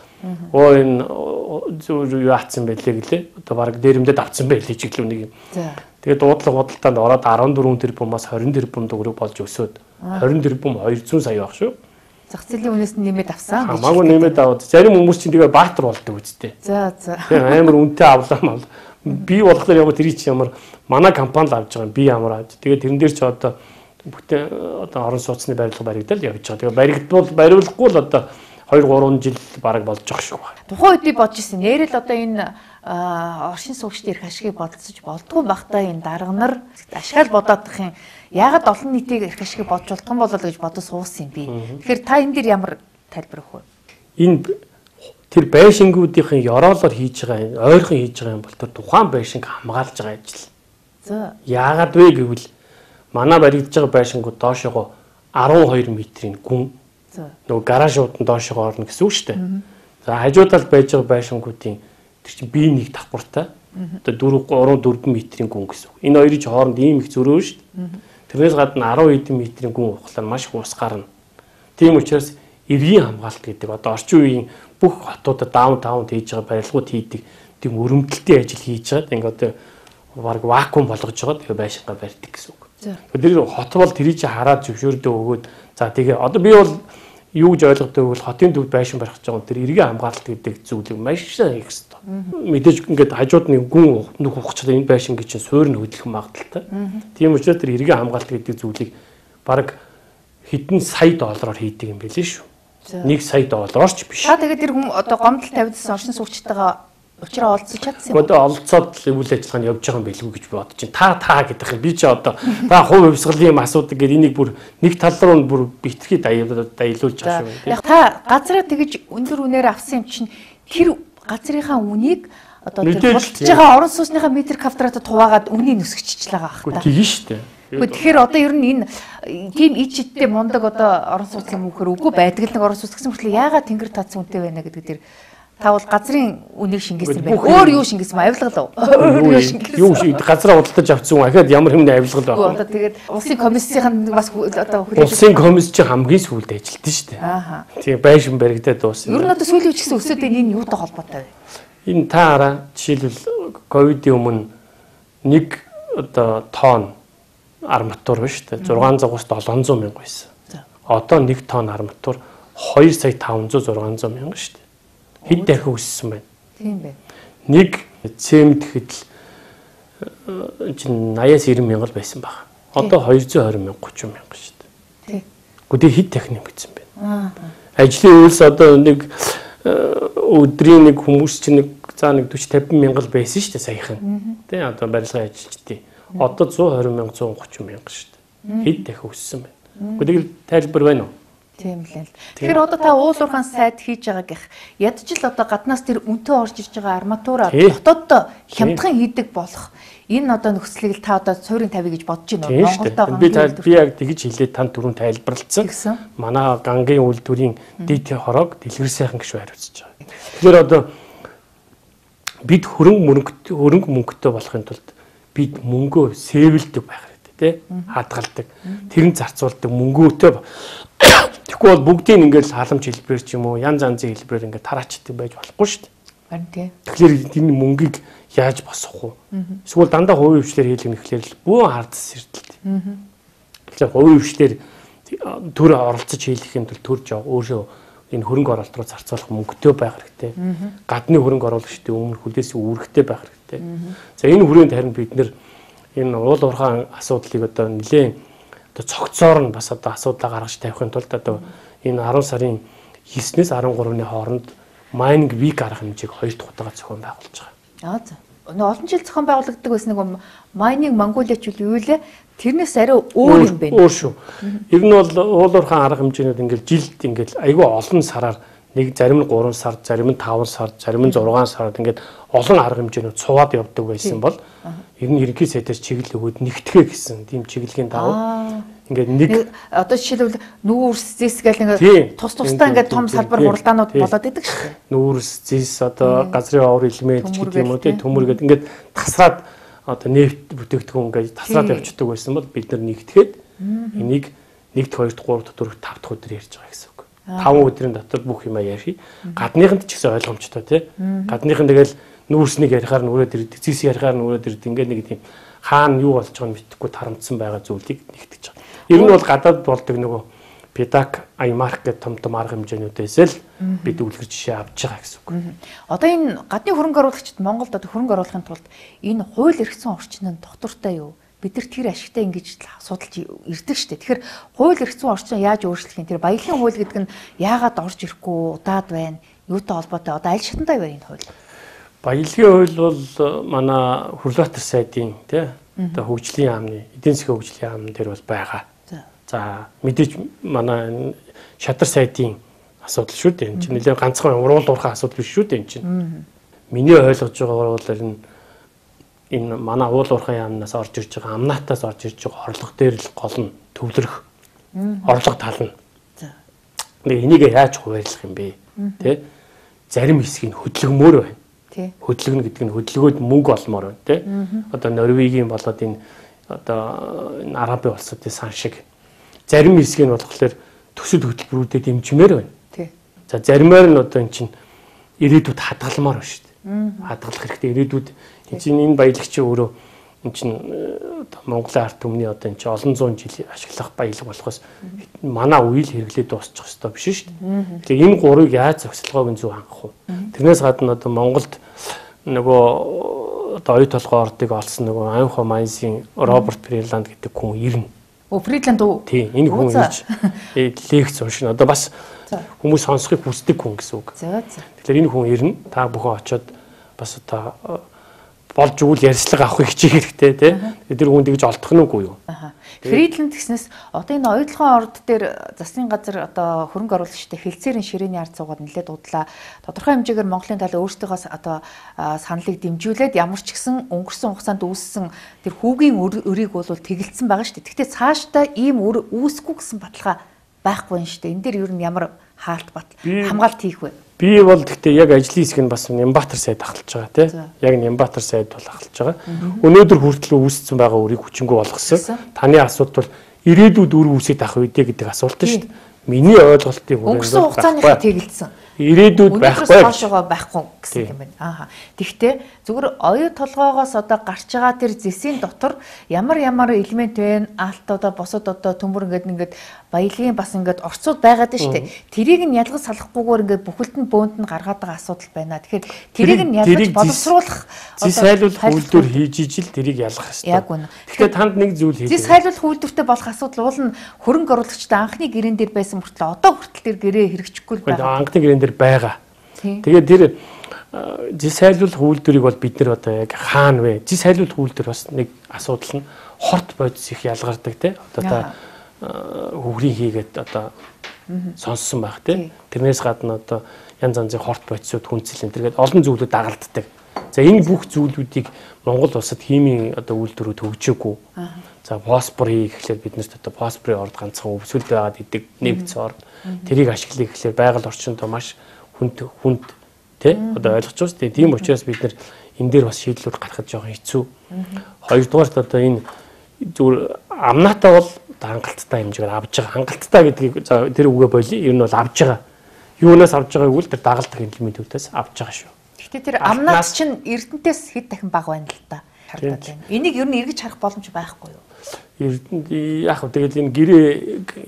оо энэ юу яатсан байлээ гэлээ. Одоо баг дээрэмдэд авцсан байлээ ч гэлөө нэг юм. Тэгээд дуудлага худалдаанд ороод арван дөрвөн тэрбумаас хорин тэрбум төгрөг болж өсөөд хорин тэрбум хоёр зуун сая баг шүү. Зах зээлийн үнээс нь нэмээд авсан. Хамаагүй нэмээд аваад зарим хүмүүс чинь тэгээ баатар болдог үстэй. За за. Амар үнэтэй авлаа мал. Би болохоор яг тэр чи ямар манай компани л авч байгаа юм. Би ямар авч. Тэгээд тэрэн дээр ч одоо бүтэн одоо орон сууцны барилга баригдал явж байгаа. Тэгээ баригдвал бариулахгүй л одоо хоёр гурван жил бараг болж байгаа шүү. Тухайн үед би бодож ирсэн. Нэрэл одоо энэ оршин суугчдын эрх ашигыг бодолцож болдгоо бахта энэ дарга нар ашгаал бодоодох юм. Яагаад олон нийтийг эрх ашигыг бодж болдох юм болоо гэж бодож суусан юм би. Тэгэхээр та энэ дээр ямар тайлбар өгөх вэ? Энэ тэр байшингуудын ёроолоор хийж байгаа ойрхон хийж байгаа юм бол тэр тухайн байшинг хамгаалж байгаа ажил. За. Яагаад вэ гэвэл манай баригдаж байгаа байшингууд доошогоо арван хоёр метрийн гүн. Нөгөө гаражууд нь доошогоо орно гэсэн үг шүү дээ. За хажуу талд байж байгаа байшингуудын тэр чинь бие нэг давхуртай. Одоо дөрвөн гурван дөрвөн метрийн гүн гэсэн үг. Энэ хоёрын хооронд ийм их зөрөө шүү дээ. Тэрнээс гадна арван хэдэн метрийн гүн ухлаар маш их ус гарна. Тийм учраас эргийн хамгаалалт гэдэг одоо орчин үеийн бүх хотуудад даунтаунд хийж байгаа барилгууд хийдэг тийм өрөмтөлтийн ажил хийж байгаа. Ингээ одоо баг вакуум болгож байгаа. Тэгээ байшингаа барьдаг гэсэн үг. Тэр хот бол тэрийг чи хараад зөвшөөрдөө өгөөд за тэгээ одоо би бол юу гэж ойлгодог вэ? Хотын төвд байшин барих гэж байгаа. Тэр эргийн хамгаалалт гэдэг зүйлийг маш сайн хийх хэрэгтэй. Мэдээж ингээд хажууд нэг гүн нүх ухчихад энэ байшин гэж чинь суурь нь хөдлөх магадaltaй. Тийм учраас тэр эргийн хамгаалалт гэдэг зүйлийг баг хэдэн сая доллараар хийдэг юм билээ шүү. нэг сая доллараар ч биш. Та тэгээд тэр хүн одоо гомдол тавьдсан оршин суугчтайгаа учраа олцож чадсан юм. Одоо олцоод үйл ажиллагаа нь явж байгаа юм билгүй гэж би бодож байна. Та та гэдэг юм. Би ч одоо та хувь хувьсгалын юм асуудаг гэдэг энийг бүр нэг тал руу нь бүр битгий даялуулж байгаа шүү. Яг та газараа тэгэж өндөр үнээр авсан юм чинь тэр газрынхаа үнийг одоо тэр худалдаж байгаа орон сууцныхаа метр квадратад хуваагаад үнийг нүсгчихж байгаа ах та. Тийм шүү дээ. Тэгэхээр одоо ер нь энэ тийм ичдтэй мундаг одоо орон сууцын мөнхөр үгүй байдаг л нэг орон сууц гэсэн мэт яагаад тэнгэр таацсан үнэтэй байна гэдэг дээр та бол газрын үнийг шингээсэн байх. Өөр юу шингээсэн авилгал уу? Өөр юу шингээсэн? Юу газраа худалдаж авсан уу? Ахаад ямар хэмнэ авилгал байх вэ? Одоо тэгээд улсын комиссийн бас одоо улсын комисс чи хамгийн сүүлд ажилтсан шүү дээ. Аа. Тийм байшин баригдаад дуусна. Ер нь одоо сүүлийн үеч гэсэн өсөд энэ юутай холбоотой вэ? Энэ та хараа жишээлбэл ковидын өмнө нэг одоо тонн арматур ба шүү дээ. зургаан зугаас долоон зуун мянга байсан. Одоо нэг тонн арматур хоёр сая таван зуун зургаан зуун мянга шүү дээ. Хэд дахин өссөн байна. Тийм байна. Нэг цемент хэдэл чинь аяас ирэн мянга байсан баг. Одоо хоёр зуун хорин мянга гучин мянга шүү дээ. Тийм. Гэхдээ хэд дахин нэмэгдсэн байна. Аа. Ажлын үйлс одоо нэг өдрийн нэг хүмүүс чинь нэг за нэг дөрвөн тавин мянга л байсан шүү дээ саяхан. Тэ одоо барилгын ажилчдын. Одоо зуун хорин мянга зуун гучин мянга шүү дээ. Хэд дахин өссөн байна. Гэхдээ тайлбар байна уу? Тийм л. Тэгэхээр одоо та уулуурхаан сайд хийж байгаа гэх ядчил одоо гаднаас тэр үнтэй орж ирж байгаа арматура дотоод хямдхан хийдэг болох энэ одоо нөхцөлийг та одоо суурийн тавь гэж бодож байна. Монголдоо би би яг тэгж хэлээд танд түрүүн тайлбарлалцсан. Манай гангийн үйлдвэрийн дэд хорог дэлгэр сайхан гişүү хариуцж байгаа. Тэгэхээр одоо бид хөрөнгө мөнгө хөрөнгө мөнгөтэй болохын тулд бид мөнгөө сэвэлдэг байх хэрэгтэй тий хадгалдаг тэр нь зарцуулдаг мөнгөөтэй тэгэхгүй бол бүгдийг ингээл халамж хэлбэрээр ч юм уу янз янзын хэлбэрээр ингээд тараачдаг байж болохгүй шүү дээ. Харин тий. Тэгэхээр энэ мөнгийг яаж босгох вэ? Эсвэл дандаа хувийн хвшлэр хийлгэх нэхлээр л бүү хардсан эрдэлт. Тэгэхээр хувийн хвшлэр төр оролцож хийлгэхийн тулд төрж өөрөө энэ хөрөнгө оруулалт руу зарцуулах мөнгөтэй байх хэрэгтэй. Гадны хөрөнгө оруулагчдын өмнө хүлээсээ үүрэгтэй байх хэрэгтэй. За энэ хүрээнд харин бид нэр энэ уул уурхаан асуудлыг одоо нэлээд одоо цогцоор нь бас одоо асуудлаа гаргаж тавихын тулд одоо энэ арван сарын девятнээс арван гуравны хооронд майнинг вик арга хэмжээг хоёр дахь удаага зохион байгуулж байгаа. Аа за. олон жил зохион байгуулагддаг байсан нэг Mining Mongolia ч юу лээ. Тэрнээс арай өөр юм байна. Өөр шүү. Ер нь бол уулуурхайн арга хэмжээнүүд ингээл жилд ингээл айгүй олон сараар нэг зарим нь гурван сар, зарим нь таван сар, зарим нь зургаан сард ингээд олон арга хэмжээнүүд цуваад явдаг байсан бол ер нь ерөнхий сайдаас чиглэл өгөөд нэгтгэе гэсэн тийм чиглэлийн дагуу ингээд нэг одоо жишээлбэл нүүрс зэс гэл ингээд тус тусдаа ингээд том салбар хуралдаанууд болоод идэг шүү дээ. Нүүрс зэс одоо газрын овор элемент ч гэдэг юм уу тийм төмөр гэдэг ингээд тасраад одоо нефт бүтээгдэхүүн ингээд тасраад явчихдаг байсан бол бид нар нэгтгэхэд энийг нэгт, хоёрт, гуравт, дөрөвт, тавт өдөр ярьж байгаа гэсэн үг. таван өдрийн дотор бүх юм ярих. Гадныханд ч гэсэн ойлгомжтой тий. Гадныхан тэгэл нүүрснийг ярихаар нь өрөөд ирдэг, зис ярихаар нь өрөөд ирдэг. Ингээд нэг тийм хаана юу болж байгааг мэдэхгүй тарамдсан байгаа зүйлийг нэгтгэж байгаа. Ер нь бол гадаад болдог нөгөө Педак, Аймарк гэх том том арга хэмжээнүүдээс л бид үлгэр жишээ авч байгаа гэсэн үг. Одоо энэ гадны хөрөнгө оруулагчид Монголд одоо хөрөнгө оруулахын тулд энэ хууль эрх зүйн орчин нь доктортой юу? Бид нар тэр ашигтай ингэж судалж ирдэг штеп. Тэгэхээр хууль эрх зүйн орчин яаж өөрчлөх юм? Тэр баялагын хууль гэдэг нь яагаад орж ирэхгүй удаад байна? Юутай холбоотой? Одоо аль шатантай байна энэ хууль? Баялагын хууль бол манай Хүрлбаатар сайдын тий одоо хөгжлийн яамны, эдийн засгийн хөгжлийн яам дээр бол байгаа. За мэдээж манай шатар сайдын асуудал шүү дээ. Энэ чинь нэлээд ганцхан уруул уурхай асуудал биш шүү дээ энэ чинь. Миний ойлгож байгаагаар бол энэ энэ манай уул уурхай яамнаас орж ирж байгаа амнаатаас орж ирж байгаа орлого дээр л гол нь төвлөрөх. Орлого тал нь. За. Энийг яаж хуваарлах юм бэ? Тэ? Зарим хэсгийг хөдөлгөмөр байна. Тэ. Хөдөлгөнө гэдэг нь хөдөлгөөд мөнгө олмоор байна, тэ? Одоо Норвегийн болоод энэ одоо энэ Арабын улсуудын сан шиг зарим хэсгийг нь болохоор төсөл хөтөлбөрүүдэд дэмжмээр байна. Тий. За заримаар нь одоо эн чинь ирээдүйд хадгалмаар байна шүү дээ. Хадгалах хэрэгтэй ирээдүйд эн чинь энэ баялагчийн өөрөө эн чинь одоо Монголын ард түмний одоо эн чинь олон зуун жил ашиглах баялаг болохоос манай үйл хэрэглээд дуусчих ёстой биш шүү дээ. Тэгэхээр энэ гурыг яаж зохицолгоог нь зөв хангах вэ? Тэрнээс гадна одоо Монголд нөгөө одоо оюу толгой ордыг олсон нөгөө Анхо Майнсийн Роберт Фридланд гэдэг хүн ирнэ. О Фридланд уу? Тийм, энэ хүн ирж лекц уншина. Одоо бас хүмүүс сонсохыг хүсдэг хүн гэсэн үг. За за. Тэгэхээр энэ хүн ирнэ. Та бүхэн очиод бас одоо болж өгвөл ярьцлага авахыг хичээх хэрэгтэй тий. Тэр хүн тэгж олдох нь үгүй юу? Аа. Фридланд гэснээс одоо энэ оюутлогын орд дээр засгийн газар одоо хөрөнгө оруулагчтай хэлцээрийн ширээний ард суугаад нэлээд удлаа. Тодорхой хэмжээгээр Монголын талаа өөрсдийнхөө одоо саналыг дэмжүүлээд ямар ч гэсэн өнгөрсөн хугацаанд үүссэн тэр хүүгийн өрийг бол тэгэлцсэн байгаа шүү дээ. Гэхдээ цаашдаа ийм өр үүсэхгүй гэсэн баталгаа байхгүй юм шүү дээ. Энэ дээр ер нь ямар хаалт бат хамгаалт хийх вэ? Би бол гэхдээ яг ажлын хэсэг нь бас Нямбатар сайд ахалж байгаа тий. Яг Нямбатар сайд бол ахалж байгаа. Өнөөдөр хүртэл үүссэн байгаа үрийг хүчингү болгосон. Таны асуулт бол ирээдүйд үр үүсэж ах үедээ гэдэг асуулт шүү дээ. Миний ойлголтыг өнгөрсөн хугацааныхаа тэгэлцсэн. Ирээдүйд байхгүй хоошоогоо байхгүй гэсэн юм байна. Ааха. Тэгвэл зүгээр оюу толгоогоос одоо гарч байгаа тэр зэсийн дотор ямар ямар элемент вэ? Алт одоо босод одоо төмөр ингээд ингээд баялагын бас ингээд орцууд байгаад шүү дээ. Тэрийг нь ялгаж салахгүйгээр ингээд бүхэлд нь бөөнд нь гаргаад байгаа асуудал байна. Тэгэхээр тэрийг нь ялгаж боловсруулах зэс хайлуулах үйлдвэр хийж ижил тэрийг ялгах хэрэгтэй. Яг үнэ. Тэгэхээр танд нэг зүйл хэлээ. Зэс хайлуулах үйлдвэртэй болох асуудал уул нь хөрөнгө оруулагчтай анхны гэрээн дээр байсан мөртлөө одоо хүртэл тэр гэрээ хэрэгжихгүй байгаа. Анхны гэрээн дээр байгаа. Тэгээд тэр зис хайлуулах үйлдвэрийг бол бид нар одоо яг хаана вэ? Зис хайлуулах үйлдвэр бас нэг асуудал нь хорт бодис их ялгардаг тий. Одоо та хөвгрийн хийгээд одоо сонссон байх тий. Тэрнээс гадна одоо янз янзын хорт бодисууд хүнцэл энэ тэргээд олон зүйлүүд дагалддаг. За энэ бүх зүйлүүдийг Монгол улсад химийн одоо үйлдвэрүүд хөгжөөгүй. За фосфор хий гэхлээр биднэрт одоо фосфорын орд ганцхан өвсгөл байгаад идэг нэгц орд. Тэрийг ашиглая гэхлээр байгаль орчинд маш хүнд хүнд тий одоо ойлгож байгаа шүү дээ. Тийм учраас бид нар энэ дээр бас шийдлүүд гаргахад жоохон хэцүү. Хоёрдугаарт одоо энэ зүгээр амнаатаа бол хангалттай хэмжээгээр авж байгаа. Хангалттай гэдгийг тэр үгээ болий. Ер нь бол авж байгаа. Юунаас авж байгааг үл тэр дагалдах элементүүдээс авж байгаа шүү. Гэхдээ тэр амнаас чинь Эрдэнтээс хэд дахин бага байна л да. Харагдаад байна. Энийг ер нь эргэж харах боломж байхгүй юу? Эрдэнэт яг хөө тэгэл энэ гэрээ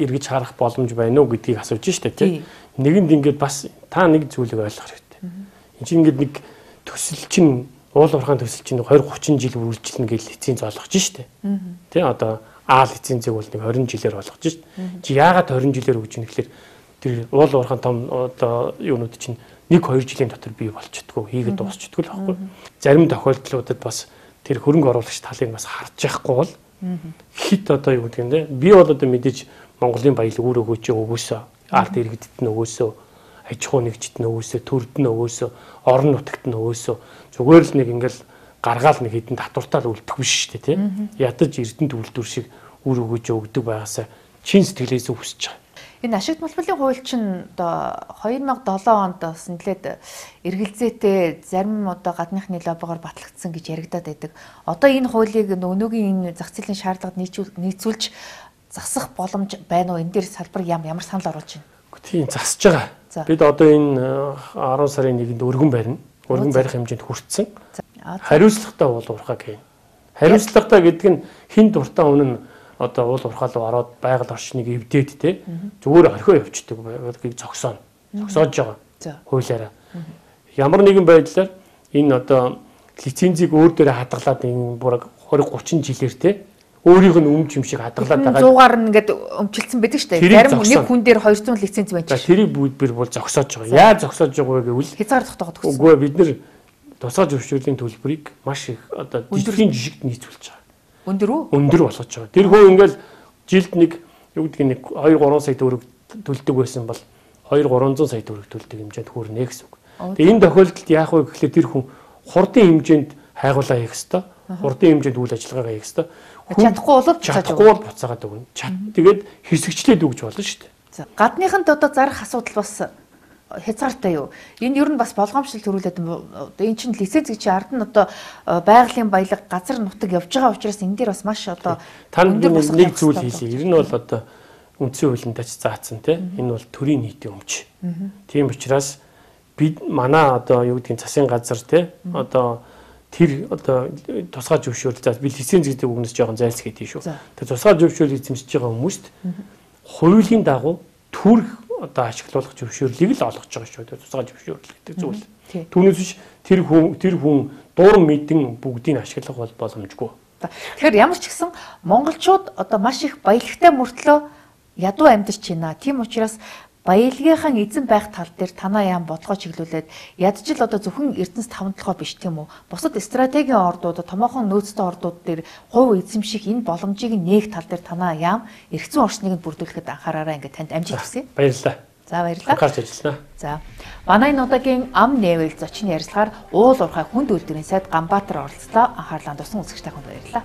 эргэж харах боломж байна уу гэдгийг асууж штэ тий. Нэгэнд ингээд бас та нэг зүйлийг ойлгох хэрэгтэй. Энд чинь ингээд нэг төсөл чинь уул уурхайн төсөл чинь двадцать тридцать жил үргэлжилнэ гэж лиценз олгож штэ. Тий одоо А лицензийг бол нэг двадцать жилээр олгож штэ. Чи яагаад двадцать жилээр өгч ийн гэхэлэр тэр уул уурхайн том одоо юунууд чинь нэг хоёр жилийн дотор бий болчихдгоо хийгээд дуусчихдгоо л байхгүй. Зарим тохиолдлуудад бас тэр хөрөнгө оруулагч талыг бас харж яахгүй бол хит одоо юу гэдэг юм те би бол одоо мэдээж Монголын баялаг үр өгөөч өгөөсөө ард иргэдэд нь өгөөсөө аж ахуй нэгжид нь өгөөсөө төрд нь өгөөсөө орон нутагт нь өгөөсөө зүгээр л нэг ингээл гаргаал нэг хідэн татвартаа үлдэх биш шүү дээ те ядаж эрдэнэт үйлдвэр шиг үр өгөөж өгдөг байгаасаа чин сэтгэлээс үсэж байгаа. Энэ ашигт малбарын хууль чинь одоо хоёр мянга долоон онд бас нэлээд эргэлзээтэй зарим одоо гадныхны лоббогоор батлагдсан гэж яригадаад байдаг. Одоо энэ хуулийг өнөөгийн энэ зах зээлийн шаардлагад нийцүүлж засах боломж байна уу? Энэ дээр салбар ямар санал оруулж байна? Тийм засаж байгаа. Бид одоо энэ арван сарын нэгэнд өргөн барина. Өргөн барих хэмжээнд хүрсэн. Хариуцлагатай уул уурхай гэх юм. Хариуцлагатай гэдэг нь хин дуртай үнэн одоо уул уурхай руу ороод байгаль орчныг эвдээд те зүгээр орхио явчихдаг байгааг зогсооно. Зогсоож байгаа. Хуулиараа. Ямар нэгэн байдлаар энэ одоо лицензийг өөр дээрээ хадгалаад энэ бүр двадцать тридцать жилээр те өөрийнх нь өмч юм шиг хадгалаад байгаа. цуугаар нь ингээд өмчлөлтсөн байдаг шүү дээ. Зарим нэг хүн дээр хоёр зуун лиценз байж. Тэрийг бүгд бүр зогсоож байгаа. Яаж зогсоож байгаа вэ гэвэл хязгаар тогтоогод өгсөн. Үгүй бид нэр тусгай зөвшөөрлийн төлбөрийг маш их одоо дэлхийн жишгт нийцүүлж байгаа. Өндөр үү? Өндөр болгож байгаа. Тэр хөө ингээл жилд нэг юу гэдэг нэг two three сая төгрөг төлдөг байсан бол two three зуун сая төгрөг төлдөг хэмжээнд хүрнэ гэсэн үг. Тэгээ энэ тохиолдолд яах вэ гэхлээр тэр хүн хурдын хэмжээнд хайгуулаа хийх ёстой. Хурдын хэмжээнд үйл ажиллагаагаа хийх ёстой. Чадахгүй бол чадахгүй бол буцаагаад өгнө. Чад тэгээд хэсэгчлээд өгч болно шүү дээ. За гадныханд одоо зарах асуудал бас хязгаартай юу? Энэ ер нь бас болгоомжтой төрүүлээд одоо энэ чинь лиценз гэж ард нь одоо байгалийн баялаг газар нутаг явж байгаа учраас энэ дээр бас маш одоо та нэг зүйл хийлээ. Ер нь бол одоо үндсэн хуулиндаач заасан тийм энэ бол төрийн нийтийн өмч. Тийм учраас бид манай одоо юу гэдгийг засгийн газар тийм одоо тэр одоо тусгай зөвшөөрөл за би лиценз гэдэг үгнээс жоохон зайлсхийд шүү. Тэр тусгай зөвшөөрөл эзэмшиж байгаа хүмүүст хуулийн дагуу төрх одоо ашиглуулах зөвшөөрлийг л олгож байгаа шүү. Тусгай зөвшөөрөл гэдэг зүйл. Түүнээс биш тэр хүн тэр хүн дуран мэдэн бүгдийг ашиглах бол боломжгүй. Тэгэхээр ямар ч гэсэн монголчууд одоо маш их баялагтай мөртлөө ядуу амьдарч байна. Тийм учраас баялагынхаа эзэн байх тал дээр танаа яам бодлого чиглүүлээд ядчил одоо зөвхөн Эрдэнэс таван толгой биш тийм үү? Бусад стратегийн ордууд, томоохон нөөцтэй ордууд дээр хувь эзэмших энэ боломжийг нээх тал дээр танаа яам эргэцэн орчныг нь бүрдүүлэхэд анхаараарай ингээд танд амжилт хүсье. Баярлалаа. За баярлалаа. Анхаарч ажиллана. За. Манай энэ удаагийн ам нээвэл зочин ярилцлагаар уул уурхай хүнд үйлдвэрийн сайд Ганбаатар оролцлоо. Анхаарлаа тусан үзэгчтэй хүнд баярлалаа.